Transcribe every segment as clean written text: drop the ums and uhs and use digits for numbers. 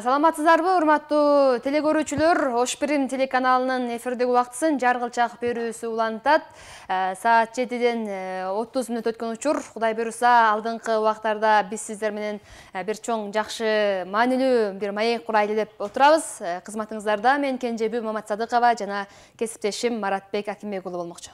Саламатсыздарбы, урматтуу телекөрүүчүлөр? Ош Бирим телеканалынын эфирдеги убактысын жаргылчак берүүсү улантат. Саат 7-ден 30 мүнөт өткөн учур. Кудай буйруса, алдыңкы убактарда биз сиздер менен бир чоң жакшы маанилүү бир маек курайлы деп отурабыз. Кызматыңыздарда мен Кенжеби Маматсадыкова жана кесиптешим Маратбек Акимбек уулу болмокчу.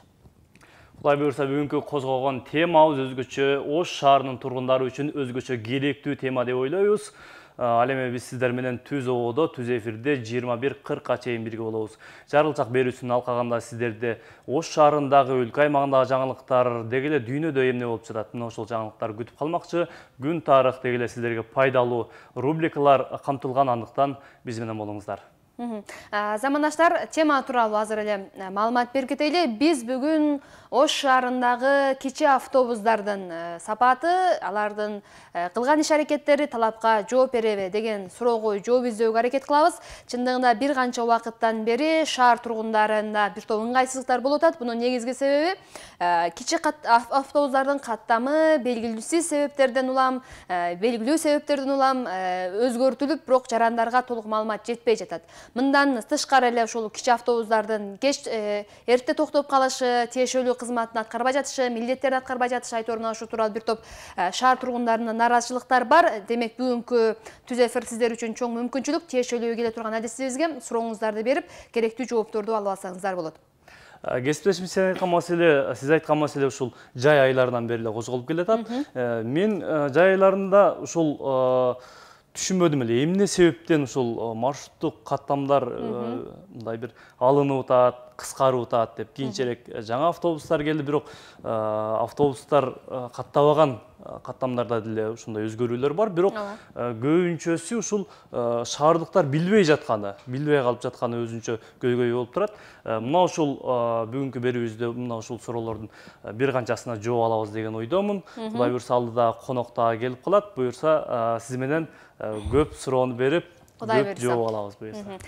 Кудай буйруса, бүгүнкү козгогон темабыз өзгөчө, Ош шаарынын тургундары үчүн өзгөчө керектүү тема деп ойлойбуз. Ал эми биз сиздер менен түз ободо, түз эфирде 21:40 чейин бирге болобуз. Жаргылчак берүүсүнүн алкагында сиздерде Ош шаарындагы, өлкө аймагындагы жаңылыктар, деги эле дүйнөдө эмне болуп жатат, мына ошол жаңылыктар күтүп калмакчы. Күн тарых, деги эле сиздерге пайдалуу рубрикалар камтылган, андыктан биз менен болуңуздар. Замандаштар, тема тууралуу азыр эле маалымат берип кетели. Биз бүгүн Ош шаарындагы кичи автобустардын сапаты, алардын кылган иш-аракеттери талапка жооп береби деген суроого жооп издөөгө аракет кылабыз. Чындыгында бир канча убакыттан бери шаар тургундарында бир топ ыңгайсыздыктар болуп атат. Бунун негизги себеби кичи автобустардын каттамы белгилүү себептерден улам өзгөртүлүп, бирок жарандарга толук маалымат жетпей жатат. Мындан тышкары эле ушул кичи автобустардын кеч эрте токтоп калышы, тиешелүү кызматын аткарбай жатышы, милдеттерди аткарбай жатышы айтоорунан ушу тууралуу бир топ шаар тургундарынын нааразычылыктар бар. Демек, бүгүнкү түз эфир сиздер үчүн чоң мүмкүнчүлүк. Тиешелүү келе турган адисибизге сурооңуздарды берип, керектүү жоопторду алып алсаңыздар болот. Кесиптешим, сиз айткан маселе ушул жай айларынан бери эле козголуп келатат. Мен жай айларында ушул түшүнбөдүм эле, эмне себептен ушул маршруттук каттамдар мындай бир алынып атат, кыскарып атат деп. Кийинчерээк жаңа автобустар келди, бирок автобустар каттабаган каттамдарда деле ушундай өзгөрүүлөр бар. Бирок көбүнчөсү ушул шаардыктар билбей калып жатканы өзүнчө көйгөй болуп турат. Мына ушул бүгүнкү берүүбүздө мына ушул суроолордун бир канчасына жооп алабыз деген ойдомун. Кудай буйруса, алдыда конок дагы келип калат. Буюрса, сиз менен көп суроону берип, көп жооп алабыз буюрса.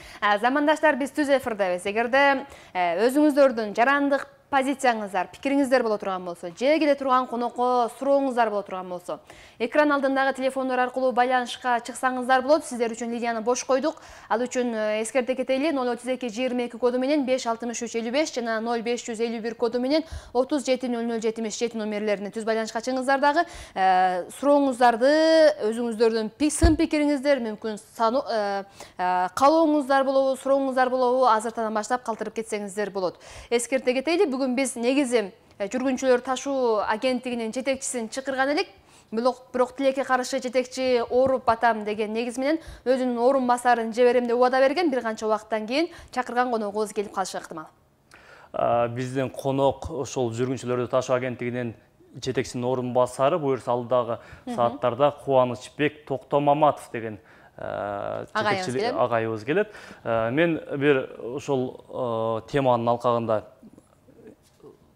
Замандаштар, биз түз эфирдебиз. Эгерде өзүңүздөрдүн жарандык позицияңыздар, пикириңиздер боло турган болсо, же келе турган конокко сурооңуздар боло турган болсо, экран алдындагы телефондор аркылуу байланышка чыксаңыздар болот. Сиздер үчүн линияны бош койдук. Ал үчүн эскерте кетели, 03222 коду менен 56355 жана 0551 коду менен 370077 номерлерине түз байланышка чыгыңыздар. Дагы сурооңуздарды, өзүңүздөрдүн сын пикириңиздер, мүмкүн каалооңуздар болобу, сурооңуздар болобу, азыртадан баштап калтырып кетсеңиздер болот. Эскерте кетели, бүгүн биз негизи жүргүнчүлөр ташуу агенттигинин жетекчисин чакырган элек. Бирок тилекке каршы жетекчи ооруп атам деген негиз менен өзүнүн орун басарын жиберем деп убада берген. Бир канча убакыттан кийин чакырган коногубуз келип калышы ыктымал. Биздин конок ошол жүргүнчүлөрдү ташуу агенттигинин жетекчисинин орун басары, буюрса алдагы сааттарда Кубанычбек Токтомаматов деген агайыбыз келет. Мен бир ошол теманын алкагында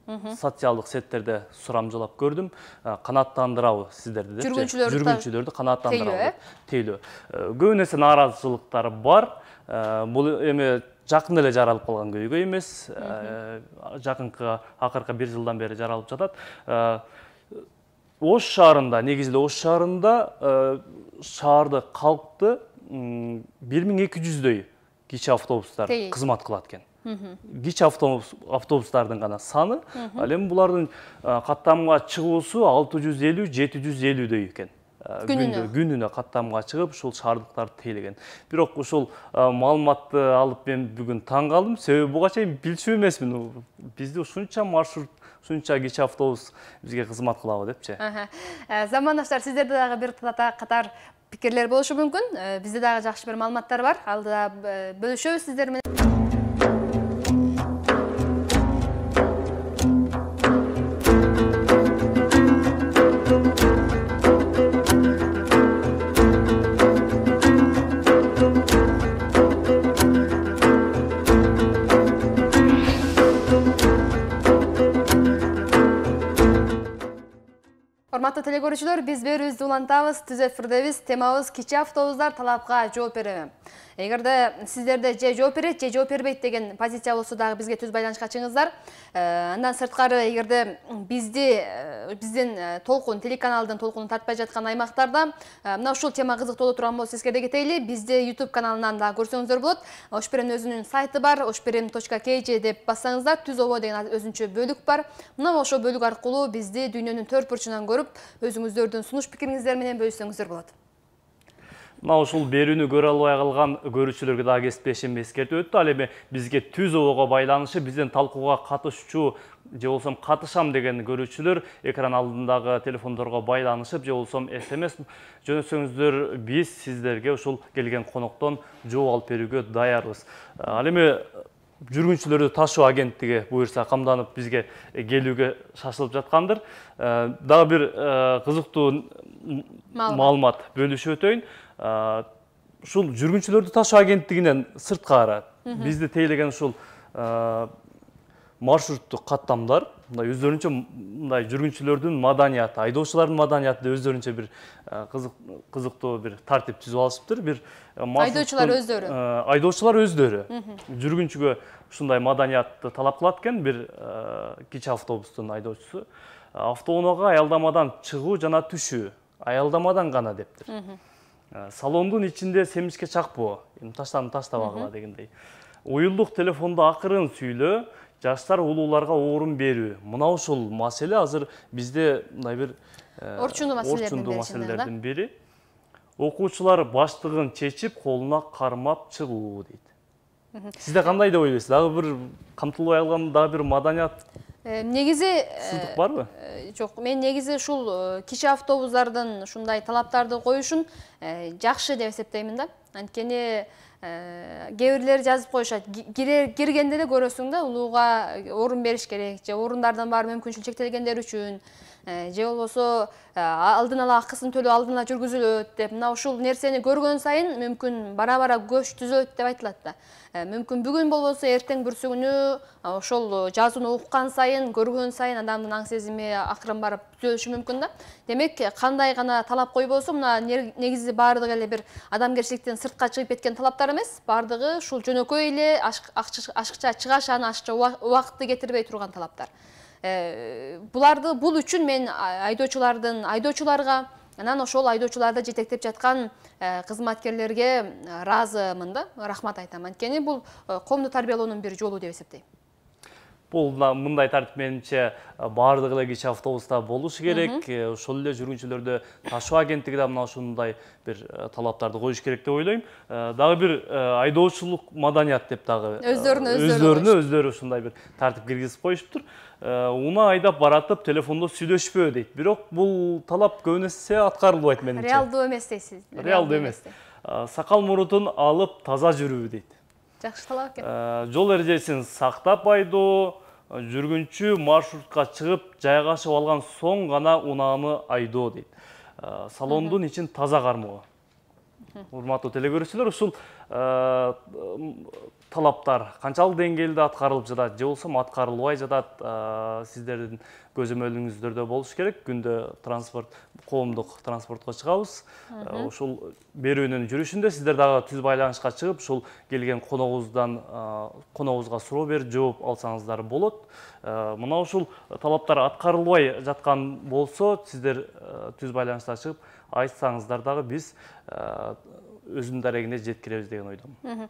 социалдык сеттерде сурамжылап көрдүм. Канааттандырабы сиздерди деп. Жүргүнчүлөрдү канааттандырабы деп тейлөө. Көп нерсе нааразычылыктар бар. Бул эми жакын эле жаралып калган көйгөй эмес. Акыркы бир жылдан бери жаралып жатат. Ош шаарында, негизинде Ош шаарында шаарды калкты 1200дөй кичи автобустар кызмат кылат экен. Кичи автобустардын гана саны, ал эми булардын каттамга чыгуусу 650-750дөй экен. Күнүнө каттамга чыгып, ушул шаардыктарды тейлеген. Бирок ушул маалыматты алып мен бүгүн таң калдым. Себеби буга чейин билчү эмесмин. Бизде ушунча маршрут, ушунча кичи автобус бизге кызмат кылабы депчи. Замандаштар, сиздерде дагы бир катар пикирлер болушу мүмкүн. Бизде дагы жакшы бир маалыматтар бар. Алдыда бөлүшөбүз сиздер менен. Урматтуу телекөрүүчүлөр, биз берүүбүздү улантабыз. Түз эфирдебиз. Темабыз кичи автобустар талапка жооп береби. Эгерде сиздерде же жооп берет, же жооп бербейт деген позиция болсо дагы бизге түз байланышка чыгыңыздар. Андан сырткары, эгерде биздин толкун, телеканалдын толкунун тартпай жаткан аймактарда мына ушул тема кызыктуу боло турган болсо эскерте кетейли. Бизде YouTube каналынан да көрсөңүздөр болот. Ошберем өзүнүн сайты бар, oshberem.kj деп бассаңыздар, Түз обо деген өзүнчө бөлүк бар. Мына ошол бөлүк аркылуу бизди дүйнөнүн төрт бурчунан көрүп, өзүңүздөрдүн сунуш пикириңиздер менен бөлүшсөңүздөр болот. Мына ушул берүүнү көрө албай калган көрүүчүлөргө дагы кесиптешим эскертип өттү. Ал эми бизге Түз обого байланышы, биздин талкууга катышчу же болсом катышам деген көрүүчүлөр экран алдындагы телефондорго байланышып, же болсом SMS жөнөтсөңүздөр, биз сиздерге ушул келген коноктон жооп алып берүүгө даярбыз. Ал эми жүргүнчүлөрдү ташуу агенттиги буюрса камданып бизге келүүгө шашылып жаткандыр. Дагы бир кызыктуу маалымат бөлүшүп өтөйүн. Ушул жүргүнчүлөрдү ташуу агенттигинен сырткары бизди тейлеген ушул маршруттук каттамдар мындай өздөрүнчө мындай жүргүнчүлөрдүн маданияты, айдоочулардын маданияты деп өздөрүнчө бир кызыктуу бир тартип түзүп алышыптыр. Бир айдоочулар өздөрү жүргүнчүгө ушундай маданиятты талап кылат экен. Бир кичи автобустун айдоочусу автоунаага аялдамадан чыгуу жана түшүү аялдамадан гана дептир. Салондун ичинде семичке чакпоо, таштабагыла дегендей. Уюлдук телефондо акырын сүйлөө, жаштар улууларга орун берүү. Мына ушул маселе азыр бизде мындай бир орчундуу маселелердин бири. Окуучулар баштыгын чечип, колуна кармап чыгуу дейт. Сизде кандай деп ойлойсуз? Дагы бир камтылбай калган дагы бир маданият негизи сыздык барбы? Жок, мен негизи ушул кичи автобустардын ушундай талаптарды коюшун жакшы деп эсептеймин да. Анткени кээ бирлери жазып коюшат. Киргенде эле көрөсүң да, улууга орун бериш керек, же орундардын баары мүмкүнчүлүк чектелгендер үчүн, же болбосо алдын ала акысын төлөө алдын ала жүргүзүлөт деп. Мына ушул нерсени көргөн сайын мүмкүн бара-бара көч түзөт деп айтылат да. Мүмкүн бүгүн болбосо эртең бүрсүгүнү ошол жазууну уккан сайын, көргөн сайын адамдын аң сезими акырын барып түзөлүшү мүмкүн да. Демек, кандай гана талап койбосо, мына негизи баардыгы эле бир адамгерчиликтен сыртка чыгып кеткен талаптар эмес, баардыгы ушул жөнөкөй эле ашыкча чыгашаны, ашыкча убакытты кетирбей турган талаптар. Бул үчүн мен айдоочуларга, анан ошол айдоочуларды жетектеп жаткан кызматкерлерге ыраазымын да, рахмат айтам. Анткени бул коомду тарбиялоонун бир жолу деп эсептейм. Бул мындай тартип менимче баардык эле кичи автобуста болушу керек. Ошол эле жүргүнчүлөрдү ташуу агенттиги да мына ушундай бир талаптарды коюш керек деп ойлойм. Дагы бир айдоочулук маданият деп дагы өздөрү ушундай бир тартип киргизип коюшуптур. Уна айдап баратып телефондо сүйлөшпөө дейт. Бирок бул талап көбүнесе аткарылбайт менимче. Реалдуу эмес дейсиз. Реалдуу эмес. Сакал мурутун алып таза жүрүү дейт. Жакшы талап экен. Жол эрежесин сактап айдоо, жүргүнчү маршрутка чыгып жайгашып алган соң гана унааны айдоо дейт. Салондун ичин таза кармоо. Урматтуу телекөрүүчүлөр, ушул талаптар канчалык деңгээлде аткарылып жатат, же болсо аткарылбай жатат, сиздердин көзөмөлүңүздөрдө болуш керек. Күндө коомдук транспортко чыгабыз. Ушул берүүнүн жүрүшүндө сиздер дагы түз байланышка чыгып, ушул келген коногубузга суроо берип жооп алсаңыздар болот. Мына ушул талаптар аткарылбай жаткан болсо, сиздер түз байланышка чыгып айтсаңыздар дагы биз өзүнүн дарегине жеткиребиз деген ойдомун.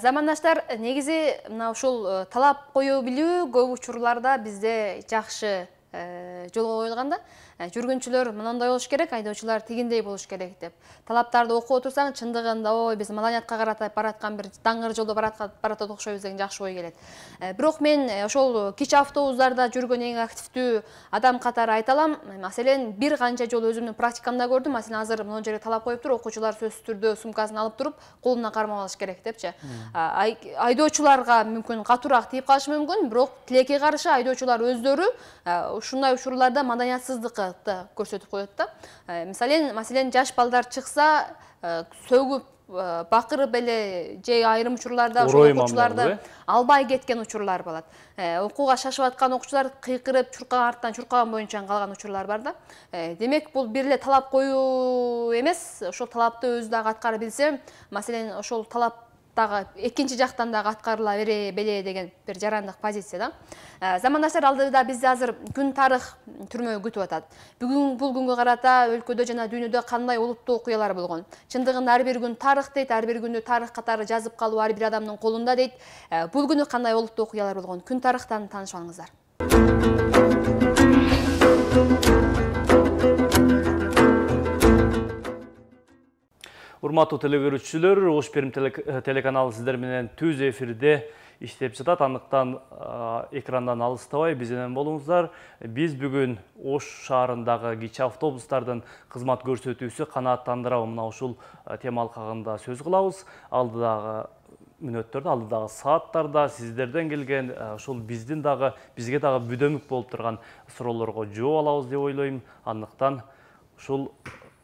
Замандаштар, негизи мына ушул талап кое билүү көп учурларда бизде жакшы жолго коюлган да. Жүргүнчүлөр мындай болуш керек, айдоочулар тигиндей болуш керек деп. Талаптарды окуп отурсаң, чындыгында биз маданиятка каратып бараткан бир даңгыр жолдо баратат окшойбуз деген жакшы ой келет. Бирок мен ошол кичи автобустарда жүргөн эң активдүү адам катары айта алам. Маселен, бир канча жолу өзүмдүн практикамда көрдүм. Маселен, азыр мына жерге талап коюптур, окуучулар сөзсүз түрдө сумкасын алып туруп, колуна кармап алыш керек депчи. Айдоочуларга мүмкүн катуураак тийип калышы мүмкүн, бирок тилекке каршы айдоочулар өздөрү ушундай учурларда маданиятсыздыкты көрсөтүп коет да. Маселен, жаш балдар чыкса, сөгүп бакырып эле же айрым учурларда окуучуларды албай кеткен учурлар болот. Окууга шашып аткан окуучулар кыйкырып, артынан чуркаган боюнча калган учурлар бар да. Демек, бул бир эле талап коюу эмес, ошол талапты өзү дагы аткара билсе, маселен, ошол талап дагы экинчи жактан дагы аткарыла беле деген бир жарандык позиция да. Замандаштар, алдыда бизди азыр күн тарых түрмөгү күтүп атат. Бүгүн бул күнгө карата өлкөдө жана дүйнөдө кандай олуттуу окуялар болгон? Чындыгында ар бир күн тарых дейт, ар бир күндү тарых катары жазып калуу ар бир адамдын колунда дейт. Бул күнү кандай олуттуу окуялар болгон? Күн тарыхтан таанышып алыңыздар. Урматтуу телекөрүүчүлөр, Ош Перим телеканалы сиздер менен түз эфирде иштеп жатат. Андыктан экрандан алыстабай биз менен болуңуздар. Биз бүгүн Ош шаарындагы кичи автобустардын кызмат көрсөтүүсү канааттандырабы мына ушул тема алкагында сөз кылабыз. Алдыдагы мүнөттөрдө, алдыдагы сааттарда сиздерден келген ушул бизге дагы бүдөмүк болуп турган суроолорго жооп алабыз деп ойлойм. Андыктан ушул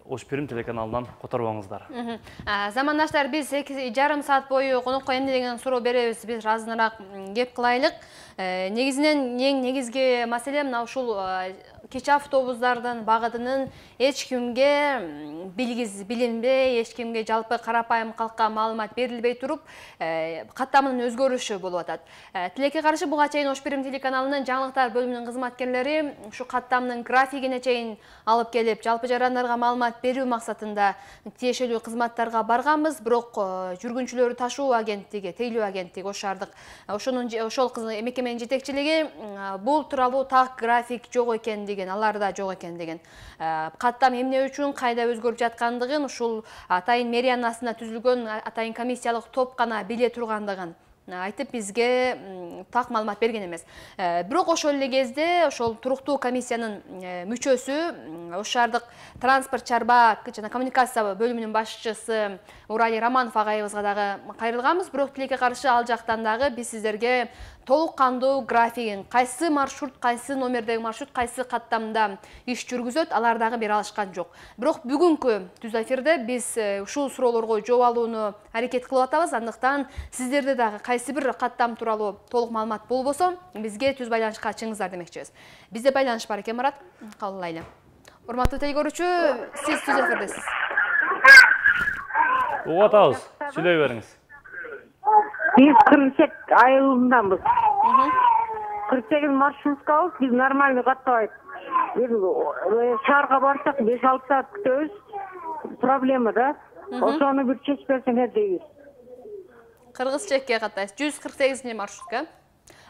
Ош Перим телеканалынан которбоңуздар. Замандаштар, биз 2,5 саат бою конокко эмне деген суроо беребиз, биз азыныраак кеп кылайлык. Негизинен эң негизги маселе мына ушул кичи автобустардын багытынын эч кимге билинбей, эч кимге жалпы карапайым калкка маалымат берилбей туруп, каттамынын өзгөрүшү болуп атат. Тилекке каршы буга чейин Ош Перим телеканалынын жаңылыктар бөлүмүнүн кызматкерлери ушу каттамдын графигине чейин алып келип, жалпы жарандарга маалымат берүү максатында тиешелүү кызматтарга барганбыз, бирок жүргүнчүлөрү ташуу агенттиги, тейлөө агенттиги Ош шаардык ошол мекеменин жетекчилиги бул тууралуу так график жок экендигин, аларда жок экендигин, каттам эмне үчүн кайда өзгөрүп жаткандыгын ушул атайын мэриянын астында түзүлгөн атайын комиссиялык топ гана биле тургандыгын айтып бизге так маалымат берген эмес. Бирок ошол эле кезде ошол туруктуу комиссиянын мүчөсү, Ош шаардык транспорт, чарба жана коммуникация бөлүмүнүн башчысы Урали Романов агайыбызга дагы кайрылганбыз. Бирок тилекке каршы ал жактан дагы биз сиздерге толук кандуу графигин, кайсы маршрут, кайсы номердеги маршрут, кайсы каттамда иш жүргүзөт, алар дагы бере алышкан жок. Бирок бүгүнкү түз эфирде биз ушул суроолорго жооп алууну аракет кылып атабыз. Андыктан сиздерде дагы кайсы бир каттам тууралуу толук маалымат болбосо, бизге түз байланышка чыгыңыздар демекчибиз. Бизде байланыш бар экен, Марат. Кабыл алайлы. Урматтуу телекөрүүчү, сиз түз эфирдесиз. Угуп атабыз. Сүйлөй бериңиз. Biz 48 айылынданбыз. 48 маршруткабыз, biz нормально каттабайт. Шаарга барсак 5-6 саат күтөбүз. Проблема да. Ошону бир чечпесеңер дейбиз. Кыргыз чекке каттайсыз. 148 маршрутка.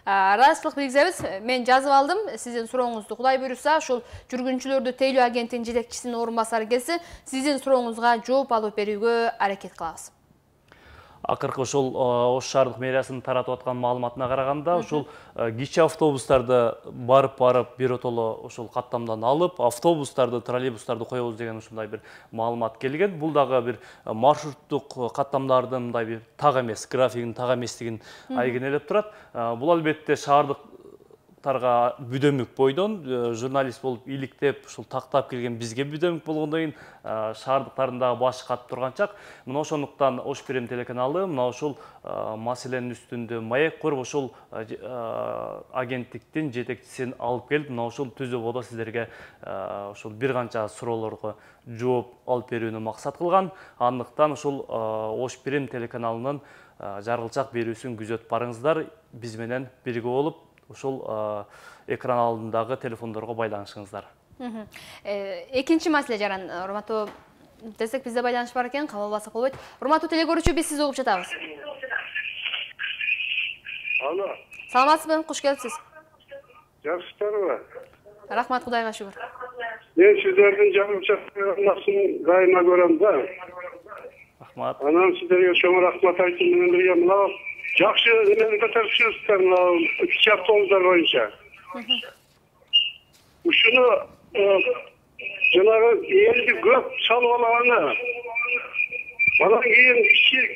Расчылык билгизебиз. Мен жазып алдым. Сиздин сурооңузду Кудай буйруса, ушул жүргүнчүлөрдү тейлөө агенттигинин жетекчисинин орун басары келсе, сиздин сурооңузга жооп алып берүүгө аракет кылабыз. Акыркы ошол Ош шаардык мэриясынын таратып аткан маалыматына караганда, ушул кичи автобустарды барып биротоло ошол каттамдан алып, автобустарды, троллейбустарды коебуз деген ушундай бир маалымат келген. Бул дагы бир маршруттук каттамдардын мындай бир так эмес, графигинин так эместигин айгинелеп турат. Бул албетте шаардык бүдөмүк бойдон журналист болуп иликтеп ушул тактап келген бизге бүдөмүк болгондон кийин шаардыктардагы башы катып турганчак, мына ошондуктан Ош Перим телеканалы мына ушул маселенин үстүндө маек коруп, ошол агенттиктин жетекчисин алып келип, мына ушул түзөбодо сиздерге ушул бир канча суроолорго жооп алып берүүнү максат кылган. Андыктан ушул Ош Перим телеканалынын жаргылчак берүүсүн күзөтүп барыңыздар, биз менен бирге болуп ушул экран алдындагы телефондорго байланышыңыздар. Экинчи маселе жаран, урматтуу десек бизде байланыш бар экен, кабыл албасак болбойт. Урматтуу телекөрүүчү, биз сизди угуп жатабыз. Алло. Саламатсызбы? Куш келипсиз. Жакшысыздарбы? Рахмат, Кудайга шүгүр. Мен сиздердин жаргылчак программасын дайыма көрөм да. Рахмат. Анан сиздерге чоң рахмат айтуу менен бирге мына жакшы эмени көтөрүп жүрүпсүздөр мына кичи автобустар боюнча. Ушуну жанагы элди көп салып алаганы. Анан кийин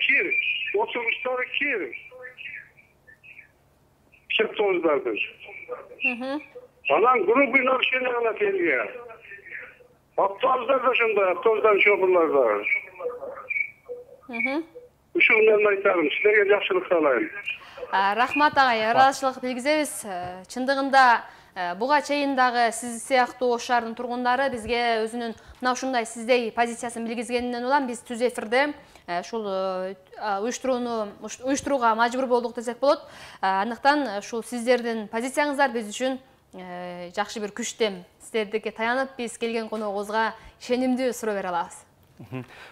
кир, отургучтары кир. Кичи автобустардын. Анан грубый нарушение кылат элге. Автобустар да ошондой, автобустар шоферлор да. Ушул менен айтам, силерге жакшылык каалайм. Рахмат агай, ыраазычылык билгизебиз. Чындыгында буга чейин дагы сиз сыяктуу Ош шаарынын тургундары бизге өзүнүн мына ушундай сиздей позициясын билгизгенинен улам биз түз эфирде ушул уюштурууга мажбур болдук десек болот. Андыктан ушул сиздердин позицияңыздар биз үчүн жакшы бир күчтем. Сиздердикке таянып биз келген коногубузга ишенимдүү суроо бере алабыз.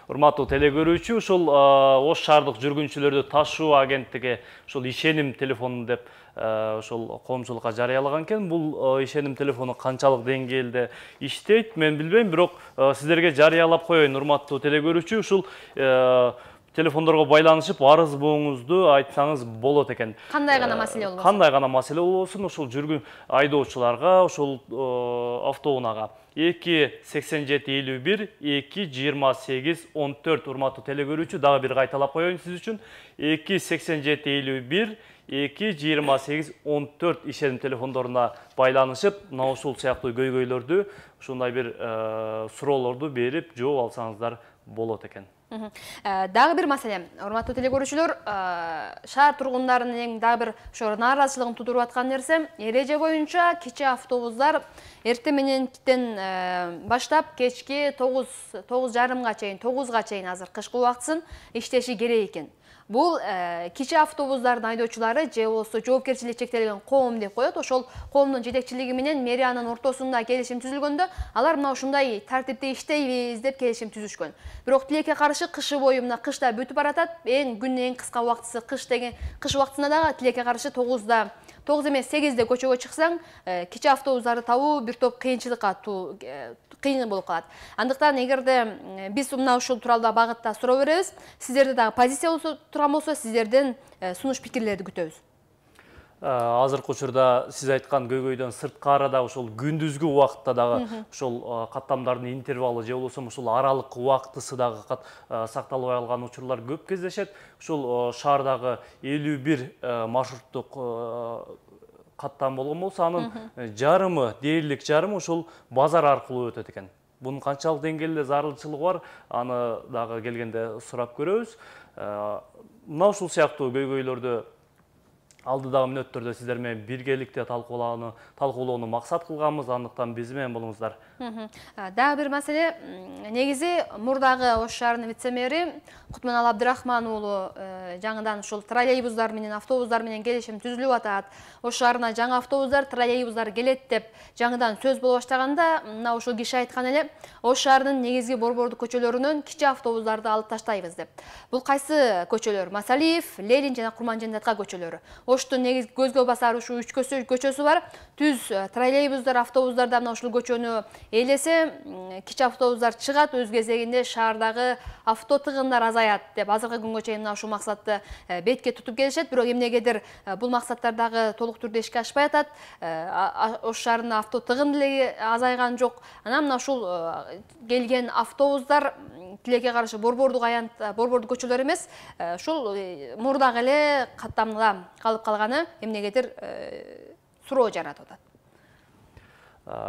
Урматтуу телекөрүүчү, ушул Ош шаардык жүргүнчүлөрдү ташуу агенттиги ушул ишеним телефону деп ушул коомчулукка жарыялаган экен. Бул ишеним телефону канчалык деңгээлде иштейт, мен билбейм, бирок сиздерге жарыялап коеюн, урматтуу телекөрүүчү. Ушул телефондорго байланышып арыз буңузду айтсаңыз болот экен. Кандай гана маселе болбосун? Кандай гана маселе болбосун, ушул жүргүн айдоочуларга, ушул автоунаага 28751 22814 урматтуу телекөрүүчү, дагы бир кайталап коеюн сиз үчүн. 28751 22814 ишеним телефондоруна байланышып, мына ушул сыяктуу көйгөйлөрдү, ушундай бир суроолорду берип жооп алсаңыздар болот экен. Дагы бир маселе, урматтуу телекөрүүчүлөр, шаар тургундарынын эң дагы бир ошо нааразычылыгын туудуруп аткан нерсе, эреже боюнча кичи автобустар эртең мененден баштап кечки 9:30 чейин, 9-га чейин азыр кышкы убактысын иштеши керек экен. Бул кичи автобустардын айдоочулары же болбосо жоопкерчилиги чектелген коом деп коет. Ошол коомдун жетекчилиги менен мэриянын ортосунда келишим түзүлгөндө, алар мына ушундай тартипте иштейбиз деп келишим түзүшкөн. Бирок тилекке каршы кышы бою мына кышта бүтүп баратат. Күндүн эң кыска убактысы кыш деген, кыш убактысында дагы тилекке каршы 9 эмес 8-де көчөгө чыксаң, кичи автобустарды табуу бир топ кыйынчылыкка кыйын болуп калат. Андыктан эгерде биз мына ушул тууралуу багытта суроо беребиз, сиздерде дагы позиция болсо турган болсо, сиздерден сунуш пикирлерди күтөбүз. Азыркы учурда сиз айткан көйгөйдөн сырткары да ушул күндүзгү убакытта дагы ушул каттамдардын интервалы же болбосо ушул аралык убактысы дагы сакталбай калган учурлар көп кездешет. Ушул шаардагы 51 маршруттук каттам болгон болсо, анын жарымы, дээрлик жарымы ушул базар аркылуу өтөт экен. Бунун канчалык деңгээлде зарылчылыгы бар, аны дагы келгенде сурап көрөбүз. Мына ушул сыяктуу көйгөйлөрдү алдыдагы мүнөттөрдө сиздер менен биргеликте талкуулоону максат кылганбыз, андыктан биз менен болуңуздар. Дагы бир маселе, негизи мурдагы Ош шаарынын вице-мэри Кутманалы Абдырахман уулу жаңыдан ушул троллейбустар менен, автобустар менен келишим түзүлүп атат. Ош шаарына жаңы автобустар, троллейбустар келет деп жаңыдан сөз боло баштаганда, мына ушул киши айткан эле, Ош шаарынын негизги борбордук көчөлөрүнөн кичи автобустарды алып таштайбыз деп. Бул кайсы көчөлөр? Масалиев, Ленин жана Курманжандатка көчөлөрү. Оштун негизги көзгө басар ушу 3 көчөсү бар. Түз троллейбустар, автобустарда мына ушул көчөнү ээлесе, кичи автобустар чыгат, өз кезегинде шаардагы авто тыгындар азаят деп азыркы күнгө чейин мына ушул максатты бетке тутуп келишет. Бирок эмнегедир бул максаттар дагы толук түрдө ишке ашпай атат. Ош шаарында авто тыгын деле азайган жок. Анан мына ушул келген автобустар тилекке каршы борбордук көчөлөр эмес, ушул мурдагы эле каттамда калып калганы эмнегедир суроо жаратып атат.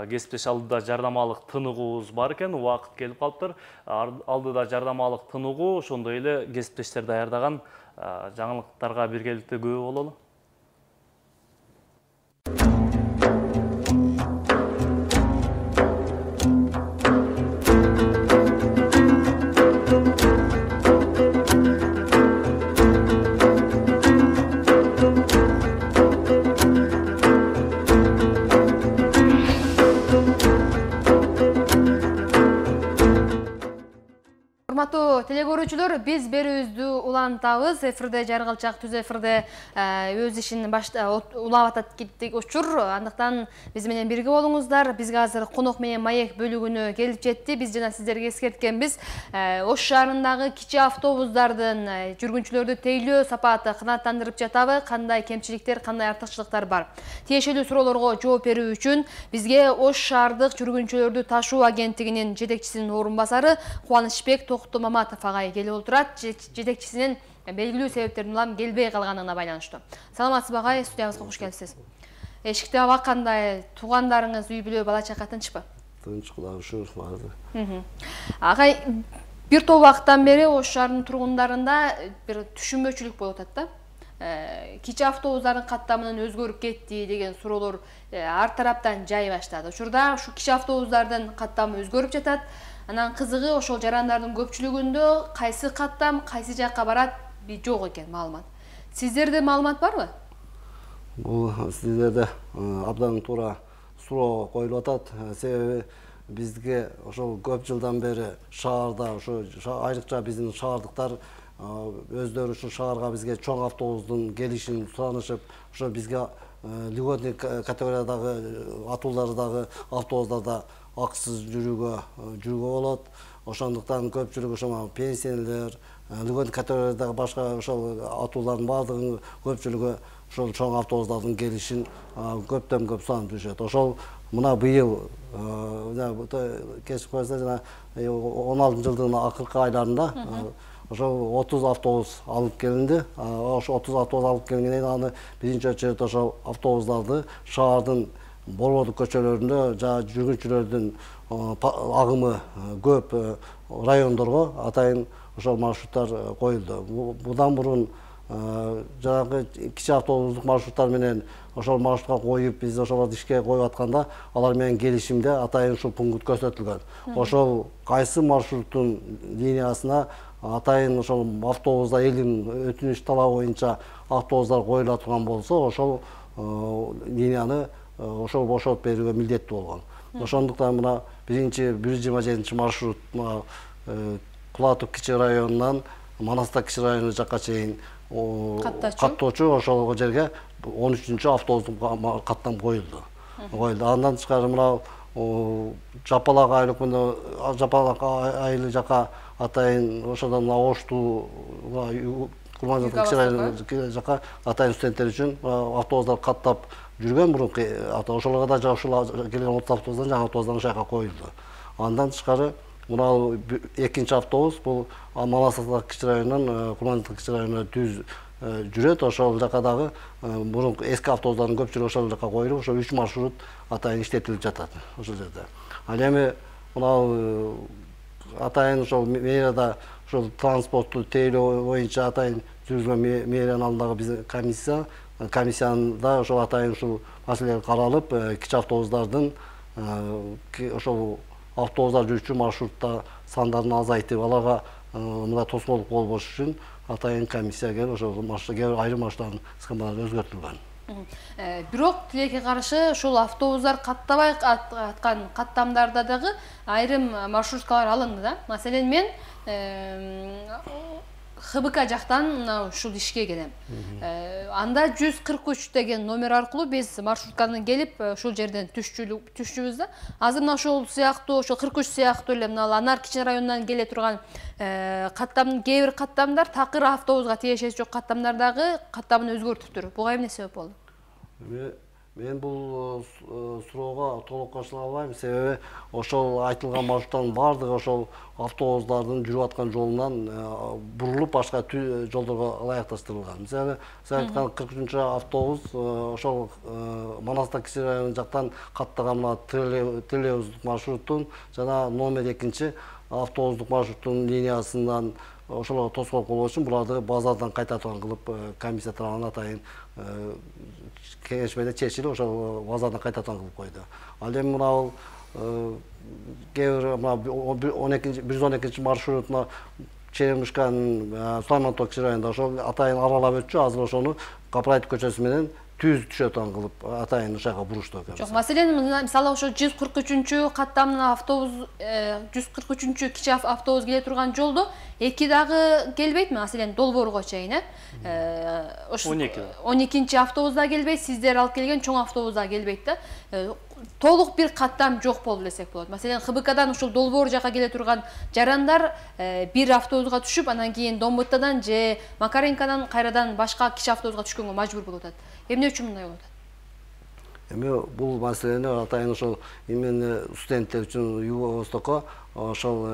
Кесиптеш, алдыда жардамалык тыныгуубуз бар экен, убакыт келип калыптыр. Алдыда жардамалык тыныгуу, ошондой эле кесиптештер даярдаган жаңылыктарга биргеликте күбө бололу. Урматтуу телекөрүүчүлөр, биз берүүбүздү улантабыз. Эфирде Жаргалчак түз эфирде өз ишин улап атат кеттик учур. Андыктан биз менен бирге болуңуздар. Бизге азыр конок менен маек бөлүгүнө келип жетти. Биз жана сиздерге эскерткенбиз. Ош шаарындагы кичи автобустардын жүргүнчүлөрдү тейлөө сапаты канааттандырып жатабы? Кандай кемчиликтер, кандай артыкчылыктар бар? Тиешелүү суроолорго жооп берүү үчүн бизге Ош шаардык жүргүнчүлөрдү ташуу агенттигинин жетекчисинин орун басары Кубанычбек Маматов агай келип отурат. Жетекчисинин белгилүү себептерден улам келбей калганына байланыштуу. Саламатсызбы агай, студиябызга кош келипсиз. Эшикте аба кандай? Туугандарыңыз, үй бүлө, бала чака тынчпы? Тынч, Кудайга шүгүр барды. Агай, бир топ убакыттан бери Ош шаарынын тургундарында бир түшүнбөчүлүк болуп атат да. Кичи автобустардын каттамынын өзгөрүп кетти деген суроолор ар тараптан жай баштады. Учурда ушу кичи автобустардын каттамы өзгөрүп жатат. Анан кызыгы ошол жарандардын көпчүлүгүндө кайсы каттам кайсы жакка барат жок экен маалымат. Сиздерде маалымат барбы? Бул сиздерде абдан туура суроо коюлуп атат. Себеби бизге ошол көп жылдан бери шаарда ошо айрыкча биздин шаардыктар өздөрү ушул шаарга бизге чоң автобустун келишин суранышып, ошо бизге льготный категориядагы атуулардагы автобустарда акысыз жүрүүгө болот. Ошондуктан көпчүлүк ошо пенсионерлер, льготный категориядагы башка ошол атуулардын баардыгынын көпчүлүгү ошол чоң автобустардын келишин көптөн көп суранып жүрүшөт. Ошол мына быйыл кечип койсо жана 16-жылдын акыркы айларында ошол 30 автобус алып келинди. Ошо 30 автобус алып келгенден кийин аны биринчи очередь ошол автобустарды шаардын борбордук көчөлөрүндө жана жүргүнчүлөрдүн агымы көп райондорго атайын ошол маршруттар коюлду. Будан мурун жанагы кичи автобустук маршруттар менен ошол маршрутка коюп биз ошолорду ишке коюп атканда алар менен келишимде атайын ушул пункт көрсөтүлгөн. Ошол кайсы маршруттун линиясына атайын ошол автобуста элдин өтүнүч талабы боюнча автобустар коюла турган болсо, ошол линияны ошол бошотуп берүүгө милдеттүү болгон. Ошондуктан мына биринчи 127 маршрут Кулатов кичи районунан Манастак кичи району жакка чейин каттоочу ошол жерге 13-чү автобустук каттам коюлду. Андан тышкары мына Жапалак айлыкмында Жапалак айылы жака атайын ошодон Ошту Курманжатка кичи району жака атайын студенттер үчүн автобустар каттап жүргөн мурунку ошолорго да ошол келген 30 автобустан жаңы автобустан ошол жака коюлду. Андан тышкары мына экинчи автобус бул Манастак кичи районунан Курманжатка кичи районуна түз жүрөт. Ошол жака дагы мурунку эски автобустардын көпчүлүгү ошол жака коюлуп, ошол 3 маршрут атайын иштетилип жатат ошол жерде. Ал эми мына атайын ошол мэрияда ошол транспортту тейлөө боюнча атайын жүргүзүлгөн мэриянын алдындагы биздин комиссияда ошол атайын ушул маселелер каралып, кичи автобустардын ошол автобустар жүрүүчү маршрутта сандарын азайтып, аларга мындай тоскоолдук болбош үчүн атайын комиссия келип ошол айрым маршруттардын схемалары өзгөртүлгөн. Бирок тилекке каршы ушул автобустар каттабай аткан каттамдарда дагы айрым маршруткалар алынды да. Маселен мен ХБК жактан ушул ишке келем. Анда 143 деген номер аркылуу биз маршрутканы келип ушул жерден түшчүбүз да. Азыр мына ошол сыяктуу, ошол 43 сыяктуу эле мына Анар кичи районунан келе турган каттам, кээ бир каттамдар такыр автобуска тиешеси жок каттамдар дагы каттамын өзгөртүптүр. Буга эмне себеп болду? Мен бул суроого толук кошула албайм, себеби ошол айтылган маршруттардын баардыгы ошол автобустардын жүрүп аткан жолунан бурулуп башка жолдорго ылайыкташтырылган. Мисалы, сиз айткан 43 автобус ошол Манастак кичи району жактан каттаган мына троллейбустук маршруттун жана номер 2 автобустук маршруттун линиясынан ошолорго тоскоолдук болбош үчүн буларды базардан кайтартууга кылып комиссия тарабынан атайын кеңешмеде чечилип ошол базардан кайтартууга кылып койду. Ал эми мына кээ бир 112 маршрут Черемушканын Сулаймантоо кичи районунда ошол атайын аралап өтчү. Азыр ошону Капраев көчөсү менен түз түшөтөн кылып атайын ошого бурушту. Жок, маселен мисалы ошо 143 каттамдын автобус 143 кичи автобус келе турган жолдо эки дагы келбейтми? Маселен Долбоорго чейин, ошо 12 автобус да келбейт, сиздер алып келген чоң автобус да келбейт да. Толук бир каттам жок болду десек болот. Маселен, ХБКдан ушул Долбоор жака келе турган жарандар бир автобуска түшүп, анан кийин Домбуттадан же Макаренкадан кайрадан башка кичи автобуска түшкөнгө мажбур болуп атат. Эмне үчүн мындай болуп атат? Эми бул маселени атайын ошол именно студенттер үчүн Юго-Востокко ошол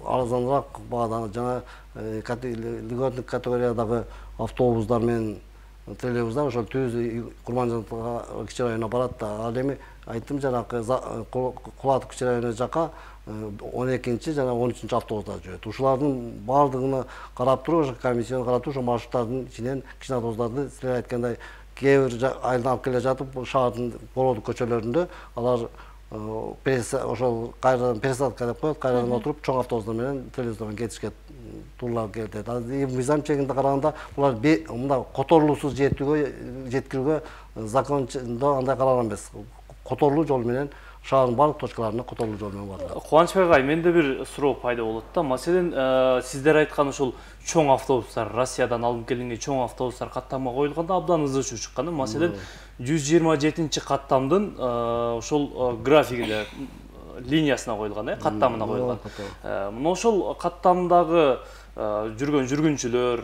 арзаныраак баада жана льготный категориядагы автобустар менен троллейбустар ошол түз Курманжатка кичи районуна барат да. Ал эми айттым жанагы Кулатов кичи району жака 12-чи жана 13-чү автобустар жүрөт. Ушулардын баардыгына карап туруп, комиссияны карап туруп, маршруттардын ичинен кичине автобустарды силер айткандай кээ бир айылдан алып келе жатып, шаардын бородук көчөлөрүндө алар ошол кайрадан пересадка деп коет, кайрадан отуруп чоң автобустар менен телевизордон кетишке тууралап келет. Мыйзам чегинде караганда булар мындай которулуусуз жеткирүүгө закондо андай каралган эмес. Которулуу жол менен шаардын барлык точкаларына которулуу жол менен барат. Кубанычбек агай, менде бир суроо пайда болот да. Маселен, сиздер айткан ушул чоң автобустар, Россиядан алынып келинген чоң автобустар каттамга коюлганда абдан ызы чыккан. Маселен, 127-чи каттамдын ошол графигине, линиясына коюлган, каттамына коюлган. Мына ошол каттамдагы жүргөн жүргүнчүлөр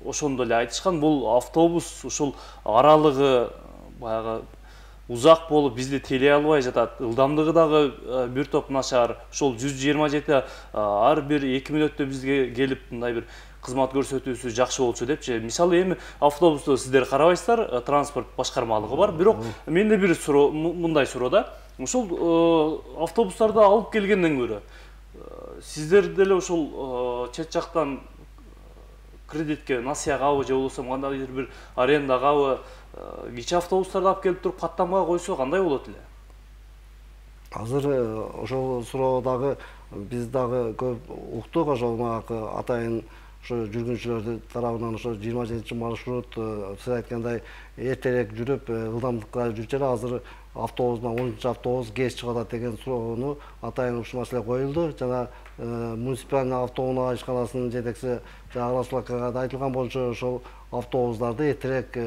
ошондо эле айтышкан, бул автобус ушул аралыгы баягы узак болуп бизди телей албай жатат. Ылдамдыгы дагы бир топ начар. Ошол 127 ар бир 2 мүнөттө бизге келип мындай бир кызмат көрсөтүүсү жакшы болчу депчи. Мисалы эми автобусту сиздер карабайсыздар, транспорт башкармалыгы бар. Бирок менде бир суроо, мындай суроо да. Ошол автобустарды алып келгенден көрө сиздер деле ошол чет жактан кредитке насыягабы же болбосо кандайдыр бир арендагабы кичи автобустарды алып келип туруп каттамга койсо кандай болот эле? Азыр ошол суроодагы биз дагы көп уктук, ошол атайын ошо жүргүнчүлөрдүн тарабынан ошо 27-чи маршрут сиз айткандай эртерээк жүрүп, ылдамдыкка жүрчү эле. Азыр автобустан 10-чу автобус кеч чыгып атат деген суроону атайын ушул маселе коюлду. Жана муниципальный автоунаа ишканасынын жетекчиси Арасулакага да айтылган болчу, ошол автобустарды эртерээк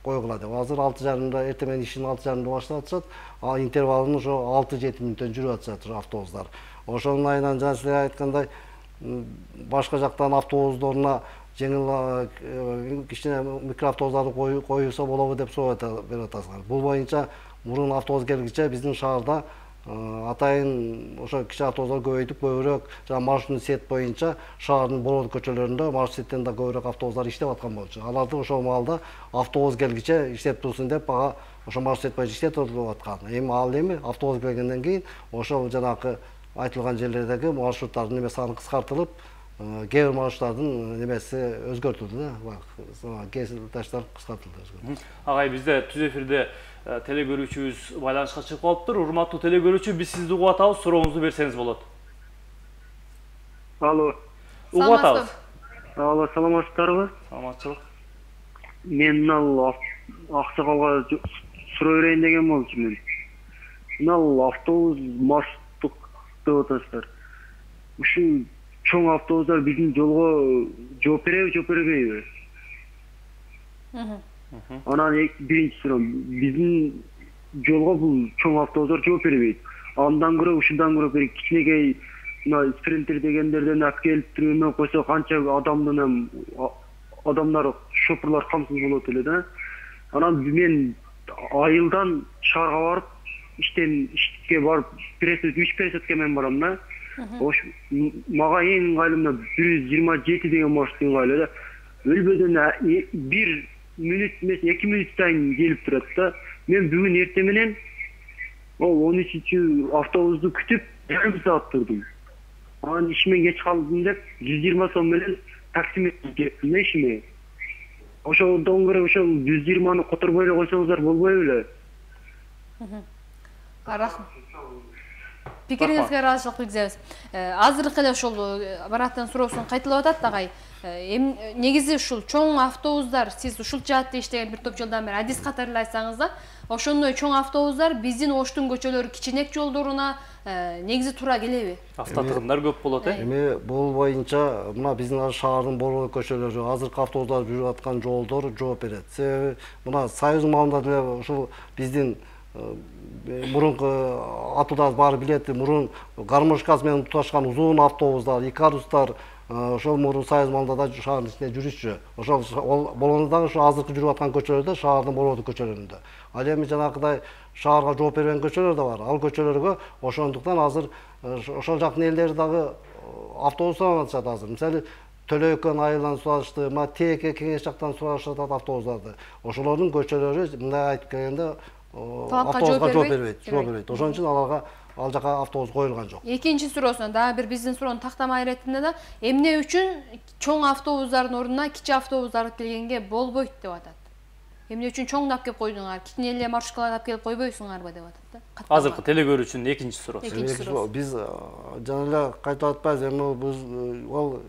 койгула деп. Азыр 6:30-да эртең менен ишин 6:30-да баштап атышат. Интервалын ошо 6-7 мүнөттөн жүрүп атышат автобустар. Ошонун айынан жана силер айткандай башка жактан автобустарына жеңил кичине микроавтобустарды коюлса болобу деп суроо берип атасыздар. Бул боюнча мурун автобус келгиче биздин шаарда атайын ошо кичи автобустар көбөйтүп, көбүрөөк жана маршруттун сет боюнча шаардын бородук көчөлөрүндө маршрут сеттен да көбүрөөк автобустар иштеп аткан болчу. Аларды ошол маалда автобус келгиче иштеп турсун деп ага ошо маршрут сет боюнча иштетип аткан. Эми автобус келгенден кийин ошол жанагы айтылган жерлердеги маршруттардын неме саны кыскартылып, кээ бир маршруттардын немеси өзгөртүлдү да. Кесилташтар кыскартылды. Агай, бизде түз эфирде теле көрүүчүбүз байланышка чыгып калыптыр. Урматтуу теле көрүүчү, биз сизди угуп атабыз, сурооңузду берсеңиз болот. Алло. Угуп атабыз. Алло, саламатсыздарбы? Саламатчылык. Мен мына Аксакалга суроо берейин деген болчумун. Мына автобус маршруттук деп атасыздар. Ушул чоң автобустар биздин жолго жооп береби, жооп бербейби? Анан биринчи суроо, биздин жолго бул чоң автобустар жооп бербейт. Андан көрө ушундан көрө бир кичинекей мына спринтер дегендерден алып келип түрүнө койсо канча адамдар, шоферлор камсыз болот эле да. Анан мен айылдан шаарга барып, ишке барып, 3 пересадка менен барам да. Мага эң ыңгайлуу 127 деген маршрут ыңгайлуу да. Өлбөдөн 1 мүнөт эмес 2 мүнөт сайын келип турат да. Мен бүгүн эртең менен ол 13-чү автобусту күтүп жарым саат турдум. Анан ишиме кеч калдым деп 120 сом менен таксиметке кеттим ишиме. Ошондон көрө ошол 120-ны которбой эле койсоңуздар болбойбу эле? Рахмат. Пикириңизге ыраазычылык билдиребиз. Азыркы эле ошол Мараттын суроосун кайталап атат агай. Негизи ушул чоң автобустар, сиз ушул жаатта иштеген бир топ жылдан бери адис катары эле айтсаңыз да, ошондой чоң автобустар биздин Оштун көчөлөрү кичинек жолдоруна негизи туура келеби? Автотыгындар көп болот, Эми бул боюнча мына биздин шаардын бородук көчөлөрү, азыркы автобустар жүрүп аткан жолдор жооп берет. Себеби мына Союз маалында деле ушул биздин мурунку атуудагы баары билет, мурун гармошкасы менен туташкан узун автобустар, икарустар ошол мурун Союз маалында да шаардын ичинде жүрүшчү. Ошол болгондо дагы ошо азыркы жүрүп аткан көчөлөрдө шаардын бородук көчөлөрүндө. Ал эми жанагыдай шаарга жооп бербеген көчөлөр да бар. Ал көчөлөргө ошондуктан азыр ошол жактын элдери дагы автобус сурап азыр. Мисалы Төлөйкөн айылынан сурашты, Теке Кеңеш жактан сурашат автобустарды. Ошолордун көчөлөрү мындай айтып келгенде автобуска жооп бербейт. Ошон үчүн аларга ал жака автобус коюлган жок. Экинчи суроосуна дагы бир биздин суроону тактамай иретинде да эмне үчүн чоң автобустардын ордуна кичи автобус алып келгенге болбойт деп атат. Эмне үчүн чоңдап келип койдуңар, кичине эле маршруткаларды алып келип койбойсуңарбы деп атат да. Азыркы телекөрүүчүнүн экинчи суроосу. Биз жана эле кайтып атпайбыз, эми биз ал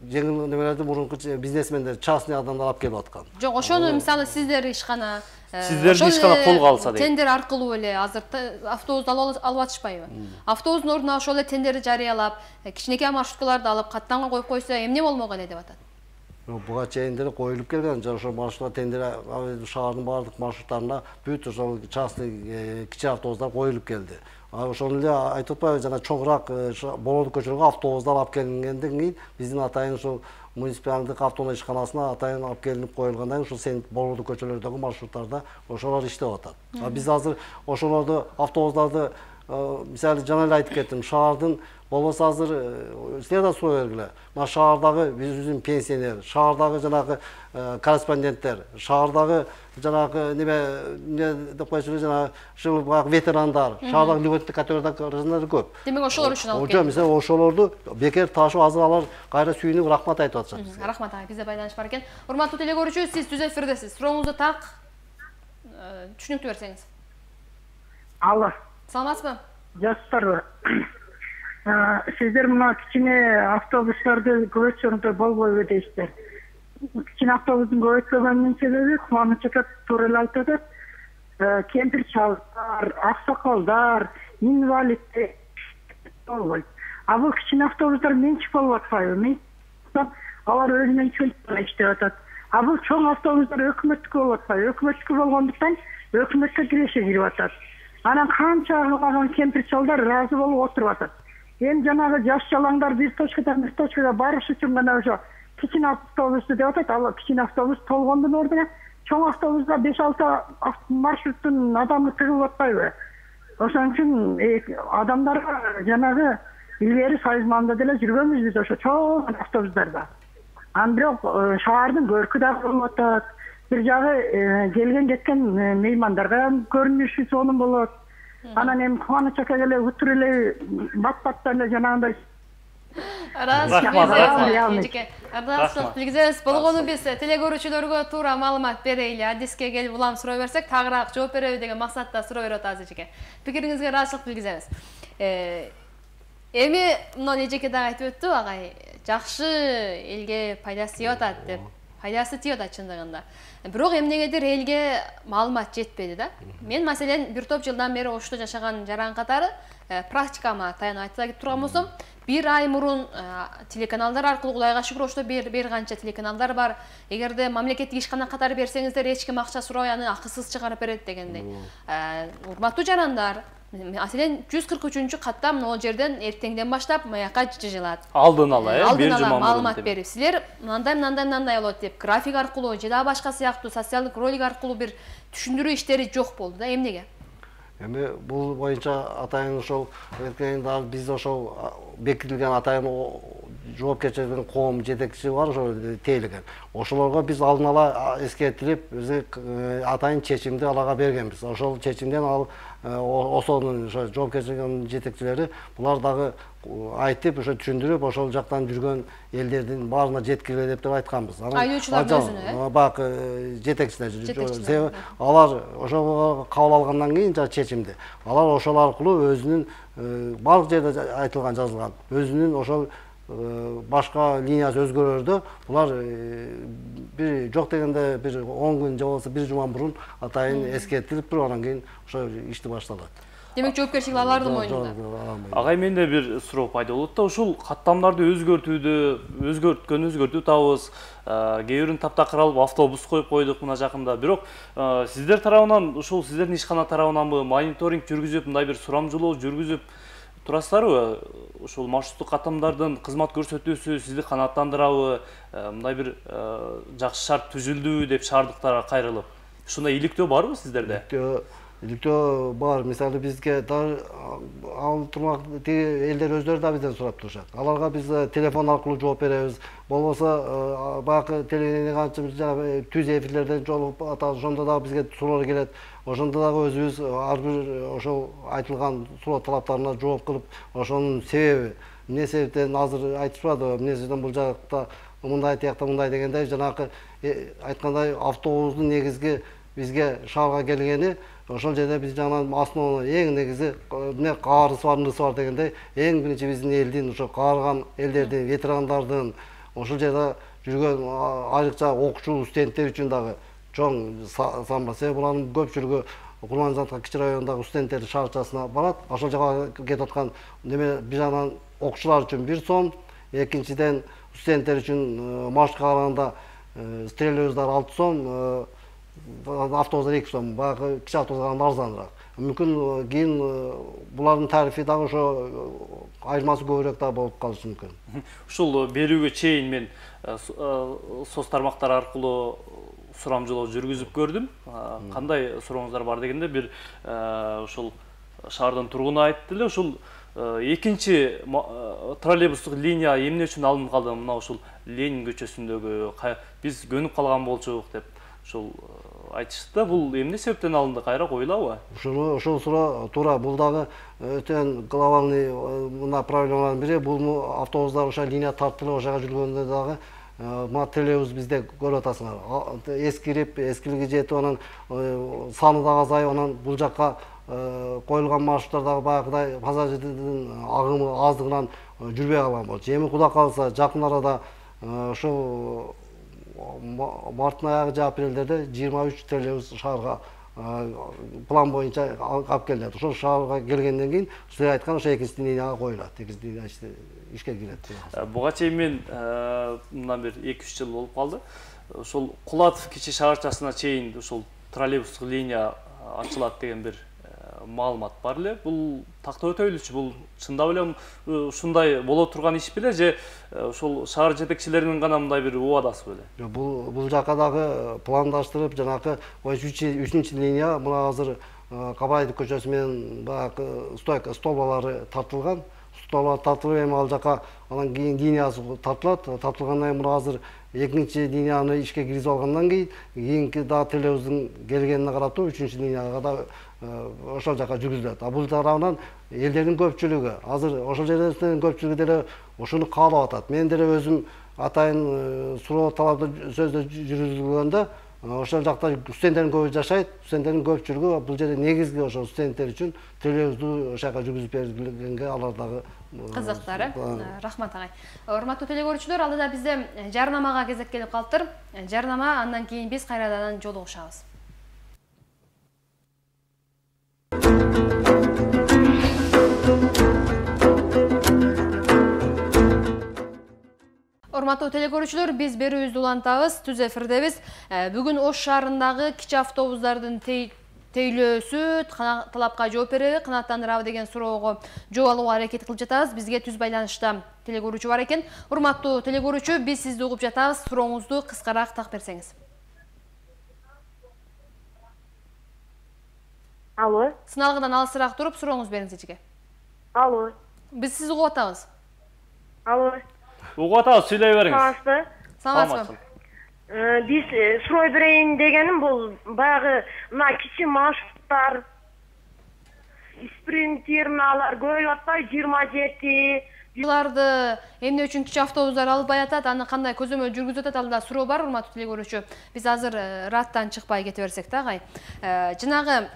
жеңил немелерди мурунку бизнесмендер, частный адамдар алып келип аткан. Жок, ошону мисалы сиздер ишкана сиздердин ишкана колго алса дейт. Тендер аркылуу эле азыр автобус алып атышпайбы? Автобустун ордуна ошол эле тендерди жарыялап, кичинекей маршруткаларды алып каттамга коюп койсо эмне болмок эле деп атат. Буга чейин деле коюлуп келген, ошо маршруттар тендер шаардын баардык маршруттарына бүт ошол частный кичи автобустар коюлуп келди. Ошону эле айтып атпайбы, жана чоңураак Болоодук көчөлөргө автобустар алып келгенден кийин биздин атайын ушул муниципалдык автоунаа ишканасына атайын алып келип коюлгандан кийин ушул Болоодук көчөлөрдөгү маршруттарда ошолор иштеп атат. Биз азыр ошолорду автобустарды мисалы жана эле айтып кеттим, шаардын болбосо азыр силер да суроо бергиле. Мына шаардагы биздин пенсионер, шаардагы жанагы корреспонденттер, шаардагы жанагы неме деп коечу жана ушул ветерандар, шаардагы льготный категориялар көп. Демек ошолор үчүн алып келдик. Мисалы ошолорду бекер ташып азыр алар кайра сүйүнүп рахмат айтып атышат. Рахмат ага, бизде байланыш бар экен. Урматтуу телекөрүүчү, сиз түз эфирдесиз. Сурооңузду так түшүнүктүү берсеңиз. Алло. Саламатсызбы? Жакшысыздарбы? Сиздер мына кичине автобустарды көбөйтсөңүздөр болбойбу дейсиздер. Кичине автобустун көбөйтпөгөнүнүн себеби Кубаныч ака туура эле айтып атат. Кемпир чалдар, аксакалдар, инвалиддер болбойт. А бул кичине автобустар менчик болуп атпайбы? Алар өзүнүн чөлтүндө иштеп атат. А бул чоң автобустар өкмөттүкү болуп атпайбы? Өкмөттүкү болгондуктан өкмөткө киреше кирип атат. Анан канча кемпир чалдар ыраазы болуп отуруп атат. Эми жанагы жаш жалаңдар бир точкадан бир точкага барыш үчүн гана ошо кичине автобусту деп атат. Ал кичине автобус толгондун ордуна чоң автобуска 5-6 маршруттун адамы тыгылып атпайбы? Ошон үчүн адамдарга жанагы илгери сайызманда деле жүргөнбүз биз ошо чоң автобустарда. Анан бирок шаардын көркү да болуп атат. Бир жагы келген кеткен меймандарга көрүнүшү сонун болот. Анан эми Кубаныч акага эле утур эле бат-баттан эле жанагындай Ардашчылык билгизебиз. Болгону биз телекөрүүчүлөргө туура маалымат берейли. Адиске келип улам суроо берсек, тагыраак жооп береби деген максатта суроо берип атабыз эжеке. Пикириңизге ыраазычылык билгизебиз. Эми мына эжеке дагы айтып өттү, агай, жакшы элге пайдасы тийип атат деп. Пайдасы тийип атат чындыгында. Бирок эмнегедир элге маалымат жетпеди да. Мен маселен бир топ жылдан бери Ошто жашаган жаран катары практикама таянып айта кетип турган болсом, бир ай мурун телеканалдар аркылуу Кудайга шүгүр Ошто бир канча телеканалдар бар. Эгерде мамлекеттик ишкана катары берсеңиздер эч ким акча сурабай аны акысыз чыгарып берет дегендей. Урматтуу жарандар, маселен 143 катта могул жерден эртеңден баштап маякка жылат. Алдын ала, бир жума маалымат берип, силер мындай болот деп график аркылуу же да башка сыяктуу социалдык ролик аркылуу бир түшүндүрүү иштери жок болду да. Эмнеге? Эми бул боюнча атайын ошол биз ошол бекитилген атайын жоопкерчиликтин коом жетекчиси бар, ошол тейлеген. Ошолорго биз алдын ала эскертилип, атайын чечимди аларга бергенбиз. Ошол чечимден ал ошонун жоопкерчилигинин жетекчилери булар дагы айтып, ошо түшүндүрүп, ошол жактан жүргөн элдердин баарына жеткиле деп айтканбыз. Айдоочулардын өзүнө, бак жетекчилер. Алар ошого кабыл алгандан кийин чечимди. Алар ошол аркылуу өзүнүн баардык жерде айтылган, жазылган, өзүнүн ошол башка линиясы өзгөрөрдө булар бир жок дегенде бир 10 күн же болбосо бир жума мурун атайын эскертилип туруп, анан кийин ошо ишти башталат. Демек жоопкерчилик алардын мойнунда. Агай, менде бир суроо пайда болот да, ушул каттамдарды өзгөрткөн табыз. Кээ бирин таптакыр алып автобус коюп койдук мына жакында. Бирок сиздер тарабынан, ушул сиздердин ишкана тарабынан мониторинг жүргүзүп, мындай бир сурамжылоо жүргүзүп турасыздарбы? Ушул маршруттук каттамдардын кызмат көрсөтүүсү сизди канааттандырабы? Мындай бир жакшы шарт түзүлдүбү деп шаардыктарга кайрылып. Ушундай иликтөө барбы сиздерде? иликтөө бар. Мисалы бизге ал турмак элдер өздөрү да бизден сурап турушат. Аларга биз телефон аркылуу жооп беребиз. Болбосо баягы телевидение канча жана түз эфирлерден жолугуп атат, ошондо да бизге суроолор келет. Ошондо дагы өзүбүз ар бир ошол айтылган суроо талаптарына жооп кылып, ошонун себеби эмне себептен азыр айтышпады, эмне себептен бул жакта мындай, тиякта мындай дегендей, жанакы айткандай автобустун негизги бизге шаарга келгени ошол жерде биз жанагы основной эң негизи эмне каарысы бар, нысы бар дегендей, эң биринчи биздин элдин, ошо каарыган элдердин, ветерандардын, ошол жерде жүргөн айрыкча окуучу студенттер үчүн дагы чоң самба. Себеби булардын көпчүлүгү Курманжатка кичи районундагы студенттер шаарчасына барат. Ошол жака кетип аткан неме бир жагынан окуучулар үчүн 1 сом, экинчиден студенттер үчүн маршрутка караганда стрелебиздар 6 сом, автобустар 2 сом, баягы кичи автобуска караганда арзаныраак. Мүмкүн кийин булардын тарифи дагы ошо айырмасы көбүрөөк да болуп калышы мүмкүн. Ушул берүүгө чейин мен соц тармактар аркылуу сурамжылоо жүргүзүп көрдүм. Кандай сурооңуздар бар дегенде бир ушул шаардын тургуну айтты эле, ушул экинчи троллейбустук линия эмне үчүн алынып калды? Мына ушул Ленин көчөсүндөгү биз көнүп калган болчук деп ушул айтышты. Бул эмне себептен алынды, кайра коюлабы? Ушул суроо туура. Бул дагы өтө глобальный мына проблемалардын бири. Бул автобустар ошо линия тартылып ошого жүргөндө дагы мына троллейбус бизде көрүп атасыңар. Эскирип, эскилиги жетип, анан саны дагы азайып, анан бул жакка коюлган маршруттар дагы баягыдай пассажирдин агымы аздыгынан жүрбөй калган болчу. Эми Кудай кааласа жакын арада ошол марттын аягы же апрелдерде 23 троллейбус шаарга план боюнча алып келинет. Ошол шаарга келгенден кийин сиз айткан ошо экинчи линияга коюлат. Экинчи линия ишке кирет. Буга чейин мен мындан бир 2-3 жыл болуп калды. Ошол Кулатов кичи шаарчасына чейин ушул троллейбустук линия ачылат деген бир маалымат бар эле. Бул такта өтөйлүчү, бул чындап эле ушундай боло турган иш беле же ошол шаар жетекчилеринин гана мындай бир убадасы беле? Бул жака дагы пландаштырып, жанакы 3-чү линия мына азыр Кабаевдин көчөсү менен баягы столбалары тартылган. Столбалар тартылып, эми ал жака анан кийин линиясы тартылат. Тартылгандан кийин мына азыр экинчи линияны ишке киргизип алгандан кийинки дагы троллейбустун келгенине карап туруп 3-чү линияга да ошол жака жүргүзүлөт. Бул тарабынан элдердин көпчүлүгү азыр ошол жерден көпчүлүгү деле ошону каалап атат. Мен деле өзүм атайын суроо талапты сөздө жүргүзүлгөндө ошол жакта студенттердин көбү жашайт. Студенттердин көпчүлүгү бул жерде негизги ошол студенттер үчүн троллейбусту ошака жүргүзүп бергенге алар дагы кызыктар. Рахмат агай. Урматтуу телекөрүүчүлөр, алдыда бизде жарнамага кезек келип калыптыр. Жарнама, андан кийин биз кайрадан жолугушабыз. Урматтуу телекөрүүчүлөр, биз берүүбүздү улантабыз, түз эфирдебиз. Бүгүн Ош шаарындагы кичи автобустардын тейлөөсү талапка жооп береби, канааттандырабы деген суроого жооп алууга аракет кылып жатабыз. Бизге түз байланышта телекөрүүчү бар экен. Урматтуу телекөрүүчү, биз сизди угуп жатабыз. Сурооңузду кыскараак так берсеңиз. Алло. Сыналгыдан алысыраак туруп сурооңуз бериңиз эчиге. Алло. Биз сизди угуп атабыз. Алло. Угуп атабыз, сүйлөй бериңиз. Саламатсызбы? Биз суроо берейин дегеним бул баягы мына кичи маршруттар, спринтерналар көбөйүп атпайбы? 27 Буларды эмне үчүн кичи автобустар албай атат, аны кандай көзөмөл жүргүзүп атат, алдыда суроо бар, урматтуу телекөрүүчү. Биз азыр раттан чыкпай кете берсек да, агай. Жанагы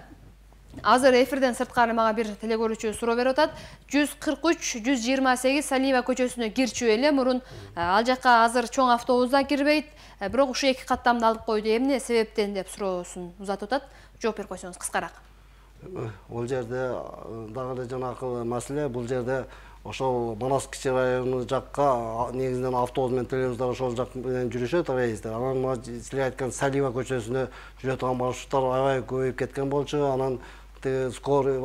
азыр эфирден сырткары мага бир телекөрүүчү суроо берип атат. 143-128 Салиева көчөсүнө кирчү эле, мурун ал жакка азыр чоң автобус да кирбейт, бирок ушу 2 каттамды алып койду. Эмне себептен деп суроосун узатып атат. Жооп берип койсоңуз кыскараак. Бул жерде дагы эле жанакы маселе, бул жерде ошол Манас кичи району жакка негизинен автобус менен троллейбустар ошол жак менен жүрүшөт, рейстер. Анан силер айткан Салиева көчөсүнө жүрө турган маршруттар аябай көбөйүп кеткен болчу. Анан скорый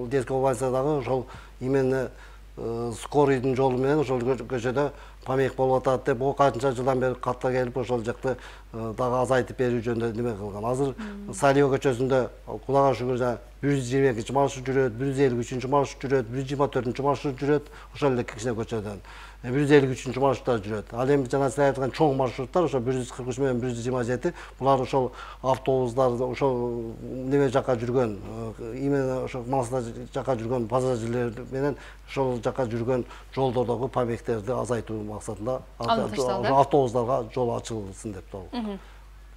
детский больницадагы ошол именно скорыйдын жолу менен ошол көчөдө помех болуп атат деп, канча жылдан бери катта келип ошол жакты дагы азайтып берүү жөнүндө неме кылган. Азыр Салио көчөсүндө Кудайга шүгүр 122 маршрут жүрөт, 153 маршрут жүрөт, 124 маршрут жүрөт, ошол эле кичине көчөдөн 153 маршруттар жүрөт. Ал эми жана сиз айткан чоң маршруттар ошо 143 менен 127, булар ошол автобустар ошол неме жака жүргөн, именно ошо Манас жака жүргөн пассажирлер менен ошол жака жүргөн жолдордогу помехтерди азайтуу максатында автобустарга жол ачылсын деп турган.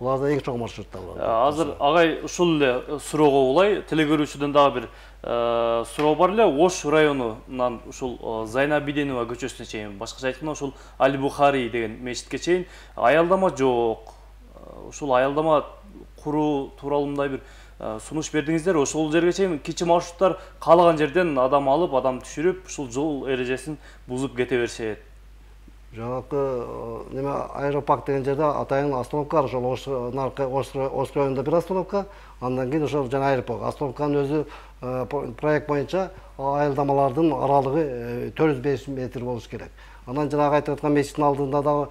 Буларда эң чоң маршруттар бар. Азыр агай ушул эле суроого улай телекөрүүчүдөн дагы бир суроо бар эле. Ош районунан ушул Зайнабиденова көчөсүнө чейин, башкача айтканда ушул Али Бухари деген мечитке чейин аялдама жок. Ушул аялдама куруу тууралуу мындай бир сунуш бердиңиздер. Ошол жерге чейин кичи маршруттар каалаган жерден адам алып, адам түшүрүп, ушул жол эрежесин бузуп кете беришет. Жанакы неме аэропарк деген жерде атайын остановка бар, ошол Ош районунда бир остановка, андан кийин ошол жана аэропорт. Остановканын өзү проект боюнча аялдамалардын аралыгы 405 метр болуш керек. Анан жанагы айтып аткан мечиттин алдында дагы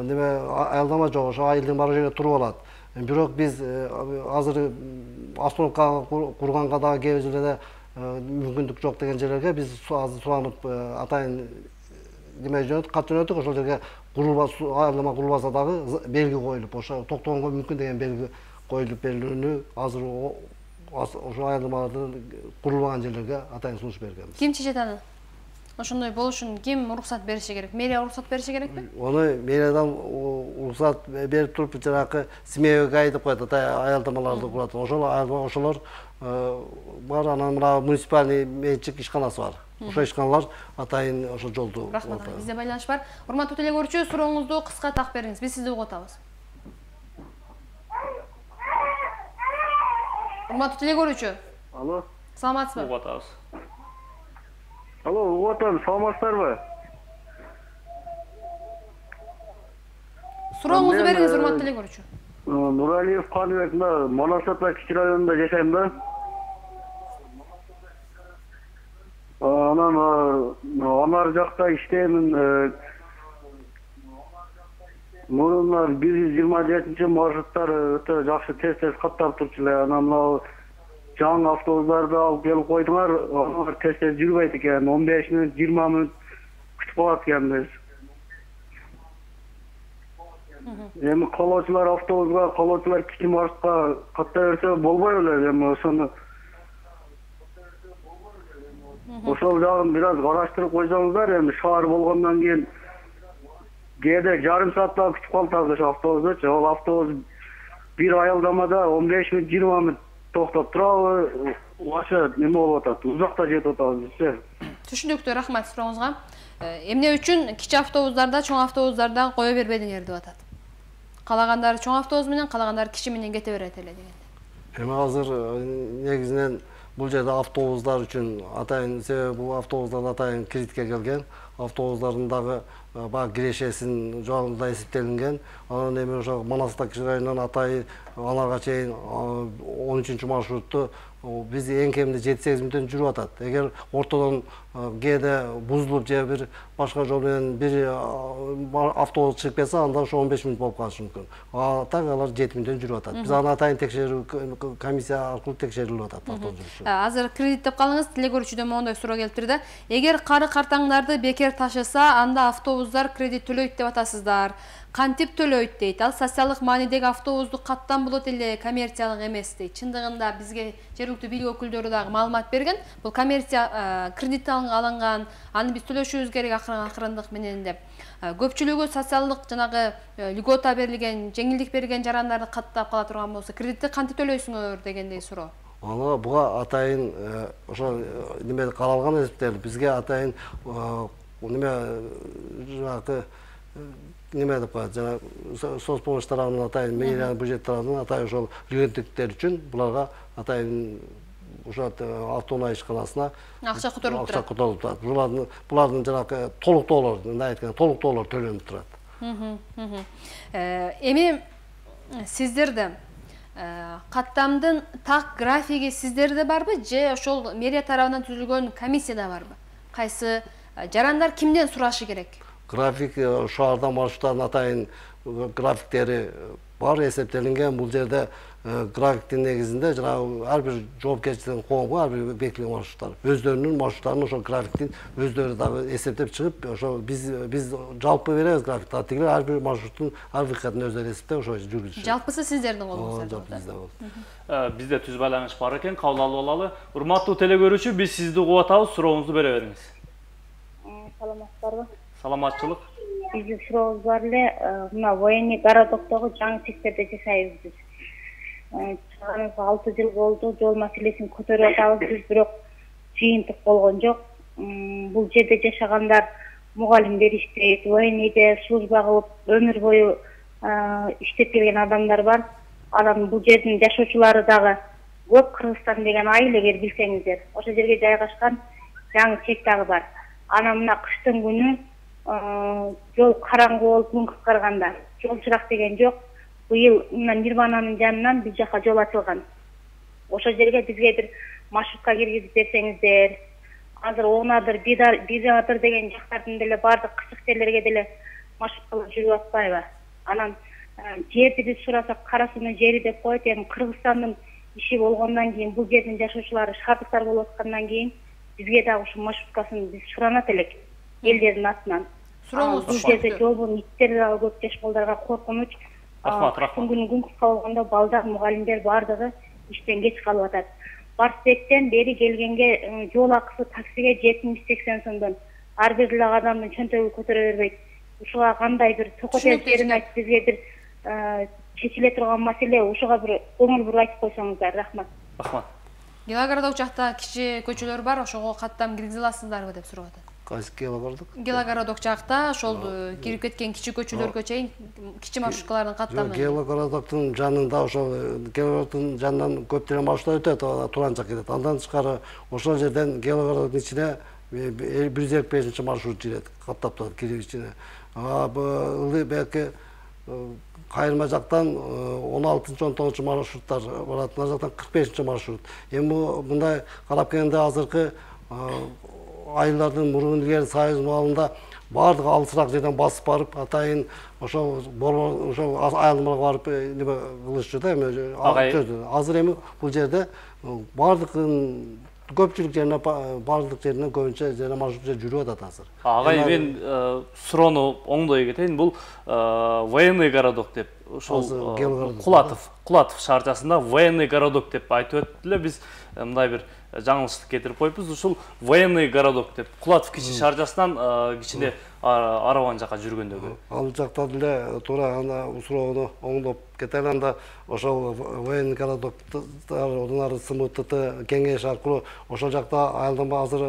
неме аялдама жок, ошо айылдын бар жерге туруп алат. Бирок биз азыр остановка курганга дагы кээ бир жерлерде мүмкүндүк жок деген жерлерге биз азыр суранып атайын неме жөнөт, кат жөнөттүк, ошол жерге аялдама курулбаса дагы белги коюлуп, ошо токтогонго мүмкүн деген белги коюлуп берилүүнү азыр ошо аялдамалардын курулбаган жерлерге атайын сунуш бергенбиз. Ким чечет аны? Ошондой болушун ким уруксат бериши керек? Мэрия уруксат бериши керекпи? Оны мэриядан уруксат берип туруп жанакы семейге гай деп коет, аялдамаларды курат. Ошолор бар, анан мына муниципальный менчик ишканасы бар. Ошо ишканалар атайын ошо жолду. Рахмат. Бизде байланыш бар. Урматтуу телекөрүүчү, сурооңузду кыска так бериңиз. Биз сизди угуп атабыз. Урматтуу телекөрүүчү. Алло. Саламатсызбы? Угуп атабыз. Алло, угуп атам, саламатсыздарбы? Сурооңузду бериңиз, урматтуу телекөрүүчү. Нуралиев Каныбек, Манас кичи районунда жашайм да. Анан анар жакта иштеймин. Мурунар 127 маршруттар өтө жакшы тез каттап турчу эле. Анан мына жаңы автобустарды алып келип койдуңар, алар тез жүрбөйт экен. 15 мүнөт, 20 мүнөт күтүп калат экенбиз. Эми колоочулар автобуска, колоочулар кичи маршрутка каттай берсе болбой эле. Эми ошол жагын бир аз караштырып койсоңуздар. Эми шаар болгондон кийин кээде жарым сааттап күтүп калабыз ошо автобусту. Ал автобус бир аялдамада 15 мүнөт, 20 мүнөт токтоп турабы, ошо неме болуп атат, узакта жетип атабыз бизчи. Түшүнүктүү, рахмат сурооңузга. Эмне үчүн кичи автобустарда, чоң автобустарда кое бербедиңер деп атат? Калагандар чоң автобус менен, калагандар кичи менен кете берет эле дегенде. Эми азыр негизинен бул жерде автобустар үчүн атайын, себеби бул автобустар атайын кредитке келген, автобустардын дагы баг кирешесин жоогунда эсептелинген. Анан эми ошо Манастак кичи районунан атайын аларга чейин 13 маршрутту биз эң кеминде 7-8 мүнөттөн жүрүп атат. Эгер ортодон кээде бузулуп же бир башка жол менен бир автобус чыгып кетсе, анда ошо 15 мүнөт болуп калышы мүмкүн. Так алар 7 мүнөттөн жүрүп атат. Биз аны атайын текшерүү комиссия аркылуу текшерилип атат автобус жүрүшү. Азыр кредит деп калыңыз, телекөрүүчүдөн мондой суроо келип турду. Эгер кары картаңдарды бекер ташыса, анда автобустар кредит төлөйт деп атасыздар. Кантип төлөйт дейт. Ал социалдык маанидеги автобусту каттан болот эле, коммерциялык эмес дейт. Чындыгында бизге жергиликтүү бийлик өкүлдөрү дагы маалымат берген. Бул коммерция кредит алынган, аны биз төлөшүбүз керек акырындык менен деп. Көпчүлүгү социалдык жанагы льгота берилген, жеңилдик берилген жарандарды каттап кала турган болсо, кредитти кантип төлөйсүңөр дегендей суроо. Аны буга атайын ошо неме каралган эсептелди. Бизге атайын неме жанагы неме деп коет, жана соцпомощь тарабынан атайын мэрия бюджет тарабынан атайын ошол льготниктер үчүн буларга атайын ошо автоунаа ишканасына акча которулуп турат. Акча которулуп турат. Булардын жанагы толуктоолор, мындай айтканда толуктоолор төлөнүп турат. Эми сиздерде каттамдын так графиги сиздерде барбы же ошол мэрия тарабынан түзүлгөн комиссияда барбы? Кайсы жарандар кимден сурашы керек? График шаардан маршруттардын атайын графиктери бар эсептелинген. Бул жерде графиктин негизинде жанагы ар бир жоопкерчиликтин коомго ар бир бекитилген маршруттар, өздөрүнүн маршруттарын ошол графиктин өздөрү дагы эсептеп чыгып, ошо биз жалпы беребиз графикти. Тигилер ар бир маршруттун ар бир катын өздөрү эсептеп ошо жүргүзүшөт. Жалпысы сиздердин колуңузда. Жалпы бизде болот. Бизде түз байланыш бар экен, кабыл алып алалы. Урматтуу телекөрүүчү, биз сизди угуп атабыз, сурооңузду бере бериңиз. Саламатсыздарбы? Саламатчылык. Биздин сурообуз бар эле, мына военный городоктогу жаңы секторде жашайбыз биз. Чыганыбызга 6 жыл болду, жол маселесин көтөрүп атабыз биз, бирок жыйынтык болгон жок. Бул жерде жашагандар мугалимдер иштейт, военныйде служба кылып өмүр бою иштеп келген адамдар бар. Анан бул жердин жашоочулары дагы көп. Кыргызстан деген айыл, эгер билсеңиздер, ошол жерге жайгашкан жаңы чек дагы бар. Анан мына кыштын күнү жол караңгы болуп күн кыскарганда жол чырак деген жок. Быйыл мына Нирвананын жанынан биз жака жол ачылган. Ошол жерге бизге бир маршрутка киргизип берсеңиздер. Азыр Оонадыр, Бизадыр деген жактардын деле бардык кычык жерлерге деле маршруткалар жүрүп атпайбы? Анан жерди биз сурасак, карасынын жери деп коет. Эми Кыргызстандын иши болгондон кийин, бул жердин жашоочулары шаардыктар болуп аткандан кийин бизге дагы ушул маршруткасын биз суранат элек элдердин атынан. Сурооңуз бул жерде жолбон иттер дагы көп, жаш балдарга коркунуч. Кыштын күнү күн кыска болгондо балдар, мугалимдер бардыгы иштен кеч калып атат. Барсбектен бери келгенге жол акысы таксиге 70-80 сомдон. Ар бир эле адамдын чөнтөгү көтөрө бербейт. Ушуга кандай бир токотелдерин айтып, бизге бир чечиле турган маселе, ушуга бир көңүл буруп айтып койсоңуздар. Рахмат. Рахмат. Гелогородок жакта кичи көчөлөр бар, ошого каттам киргизе аласыздарбы деп сурап атат. Кайсы Гелогородок? Гелогородок жакта ошол кирип кеткен кичи көчөлөргө чейин кичи маршруткалардын каттамы. Гелогородоктун жанында ошол Гелогороддун жанынан көп деле маршруттар өтөт, Туран жакка кетет. Андан тышкары ошол жерден Гелогороддун ичине 155 маршрут жүрөт, каттап турат кирип ичине. Ылдый белки Кайырма жактан 16-19 маршруттар барат, мына жактан 45 маршрут. Эми мындай карап келгенде азыркы айылдардын мурун илгери Союз маалында бардыгы алысыраак жерден басып барып, атайын ошол айылмага барып неме кылышчу да, эми азыр эми бул жерде бардыгын көпчүлүк жерине бардык жеринен көбүнчө жана маршрут жүрүп атат азыр. Агай, мен суроону оңдой кетейин. Бул военный городок деп ошол Кулатов шаарчасында военный городок деп айтып өттүлө. Биз мындай бир жаңылыштык кетирип коюпбуз. Ушул военный городок деп Кулатов кичи шаарчасынан кичине Араван жака жүргөндөгү. Ал жакта деле туура ана суроону оңдоп кетели. Анда ошол военный городоктор одан ары СМТ кеңеш аркылуу ошол жакта айылдан азыр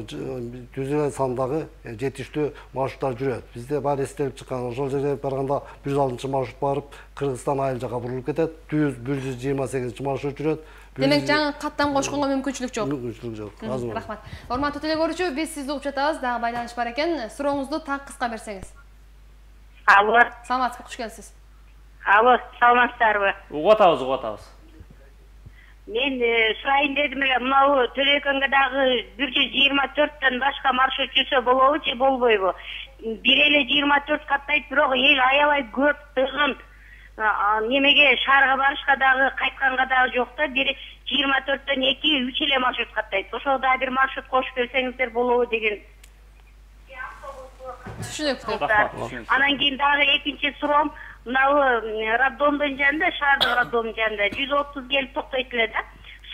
жүз эле сандагы жетиштүү маршруттар жүрөт. Бизде баары эстелип чыккан. Ошол жерге барганда 106 маршрут барып, Кыргызстан айыл жака бурулуп кетет. 128 маршрут жүрөт. Демек жаңы каттам кошконго мүмкүнчүлүк жок. Мүмкүнчүлүк жок. Рахмат. Урматтуу телекөрүүчү, биз сизди угуп жатабыз, дагы байланыш бар экен. Сурооңузду так кыска берсеңиз. Алло. Саламатсызбы, куш келипсиз. Алло, саламатсыздарбы? Угуп атабыз. Мен сурайын дедим эле, мынау Төлөкөнгө дагы 124төн башка маршрут жүрсө болобу же болбойбу? Бир эле 24 каттайт, бирок эл аябай көп тыгын. Немеге шаарга барышка дагы, кайтканга дагы жок да, бир 24төн 2-3 эле маршрут каттайт. Ошол дагы бир маршрут кошуп берсеңиздер болобу деген. Түшүнүктүү. Анан кийин дагы экинчи суроом, мынау роддомдун жанында, шаардык роддомдун жанында 130 келип токтойт эле да.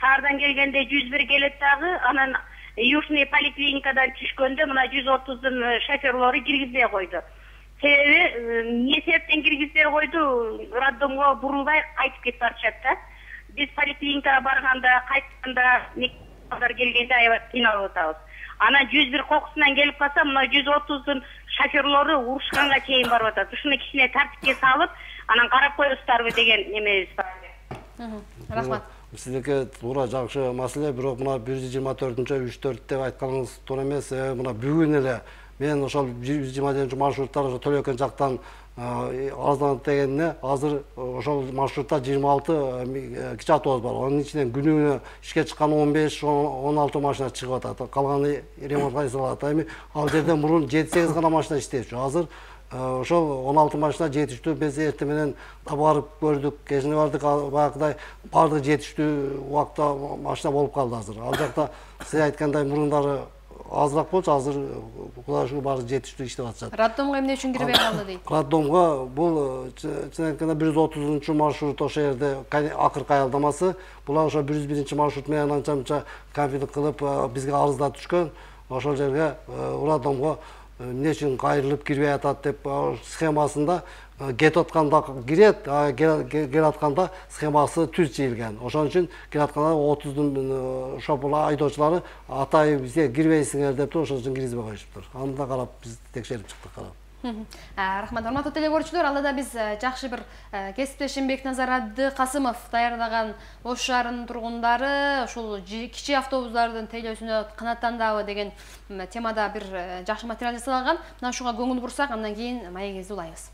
Шаардан келгенде 101 келет дагы, анан Южный поликлиникадан түшкөндө мына 130дун шоферлору киргизбей койду. Себеби эмне себептен киргизбей койду? Роддомго бурулбай кайтып кетип барышат да. Биз поликлиникага барганда, кайтканда, мектепкалар келгенде аябай кыйналып атабыз. Анан 101 кокусунан келип калса, мына 130дун шоферлору урушканга чейин барып атат. Ушуну кичине тартипке салып, анан карап коесуздарбы деген немебиз бар. Рахмат. Сиздерге туура жакшы маселе, бирок мына 124-3-4 деп айтканыңыз туура эмес. Мына бүгүн эле мен ошол 124 маршруттар ошо Төлөкөн жактан арызданып дегенине азыр ошол маршрутта 26 кичи автобус бар. Анын ичинен күнүнө ишке чыккан 15-16 машина чыгып атат. Калганы ремонтка жасалат. Эми ал жерде мурун 7-8 гана машина иштечү. Азыр ошол 16 машина жетиштүү биз эртең менен барып көрдүк, кечине бардык, баягыдай баардыгы жетиштүү убакта машина болуп калды азыр. Ал жакта сиз айткандай мурундары азыраак болчу, азыр Кудайга шүгүр баары жетиштүү иштеп атышат. Роддомго эмне үчүн кирбей калды дейт? Роддомго бул чын айтканда 130 маршрут ошол жерде акыркы аялдамасы. Булар ошо 101 маршрут менен анча-мынча конфликт кылып бизге арыздар түшкөн. Ошол жерге роддомго эмне үчүн кайрылып кирбей атат деп схемасында кетип атканда кирет, келип атканда схемасы түз чийилген. Ошон үчүн келип атканда 30дун шопур айдоочулары атайын бизге кирбейсиңер деп ошон үчүн киргизбей коюшуптур. Аны да карап биз текшерип чыктык, карап. Рахмат, урматтуу теле көрүүчүлөр, алда биз жакшы бир кесиптешим Бекназар Абдыкасымов даярдаган Ош шаарынын тургундары ушул кичи автобустардын тейлөөсүнө канааттандабы деген темада бир жакшы материал жасалган. Мына ушуга көңүл бурсак, андан кийин маегибизди улайбыз.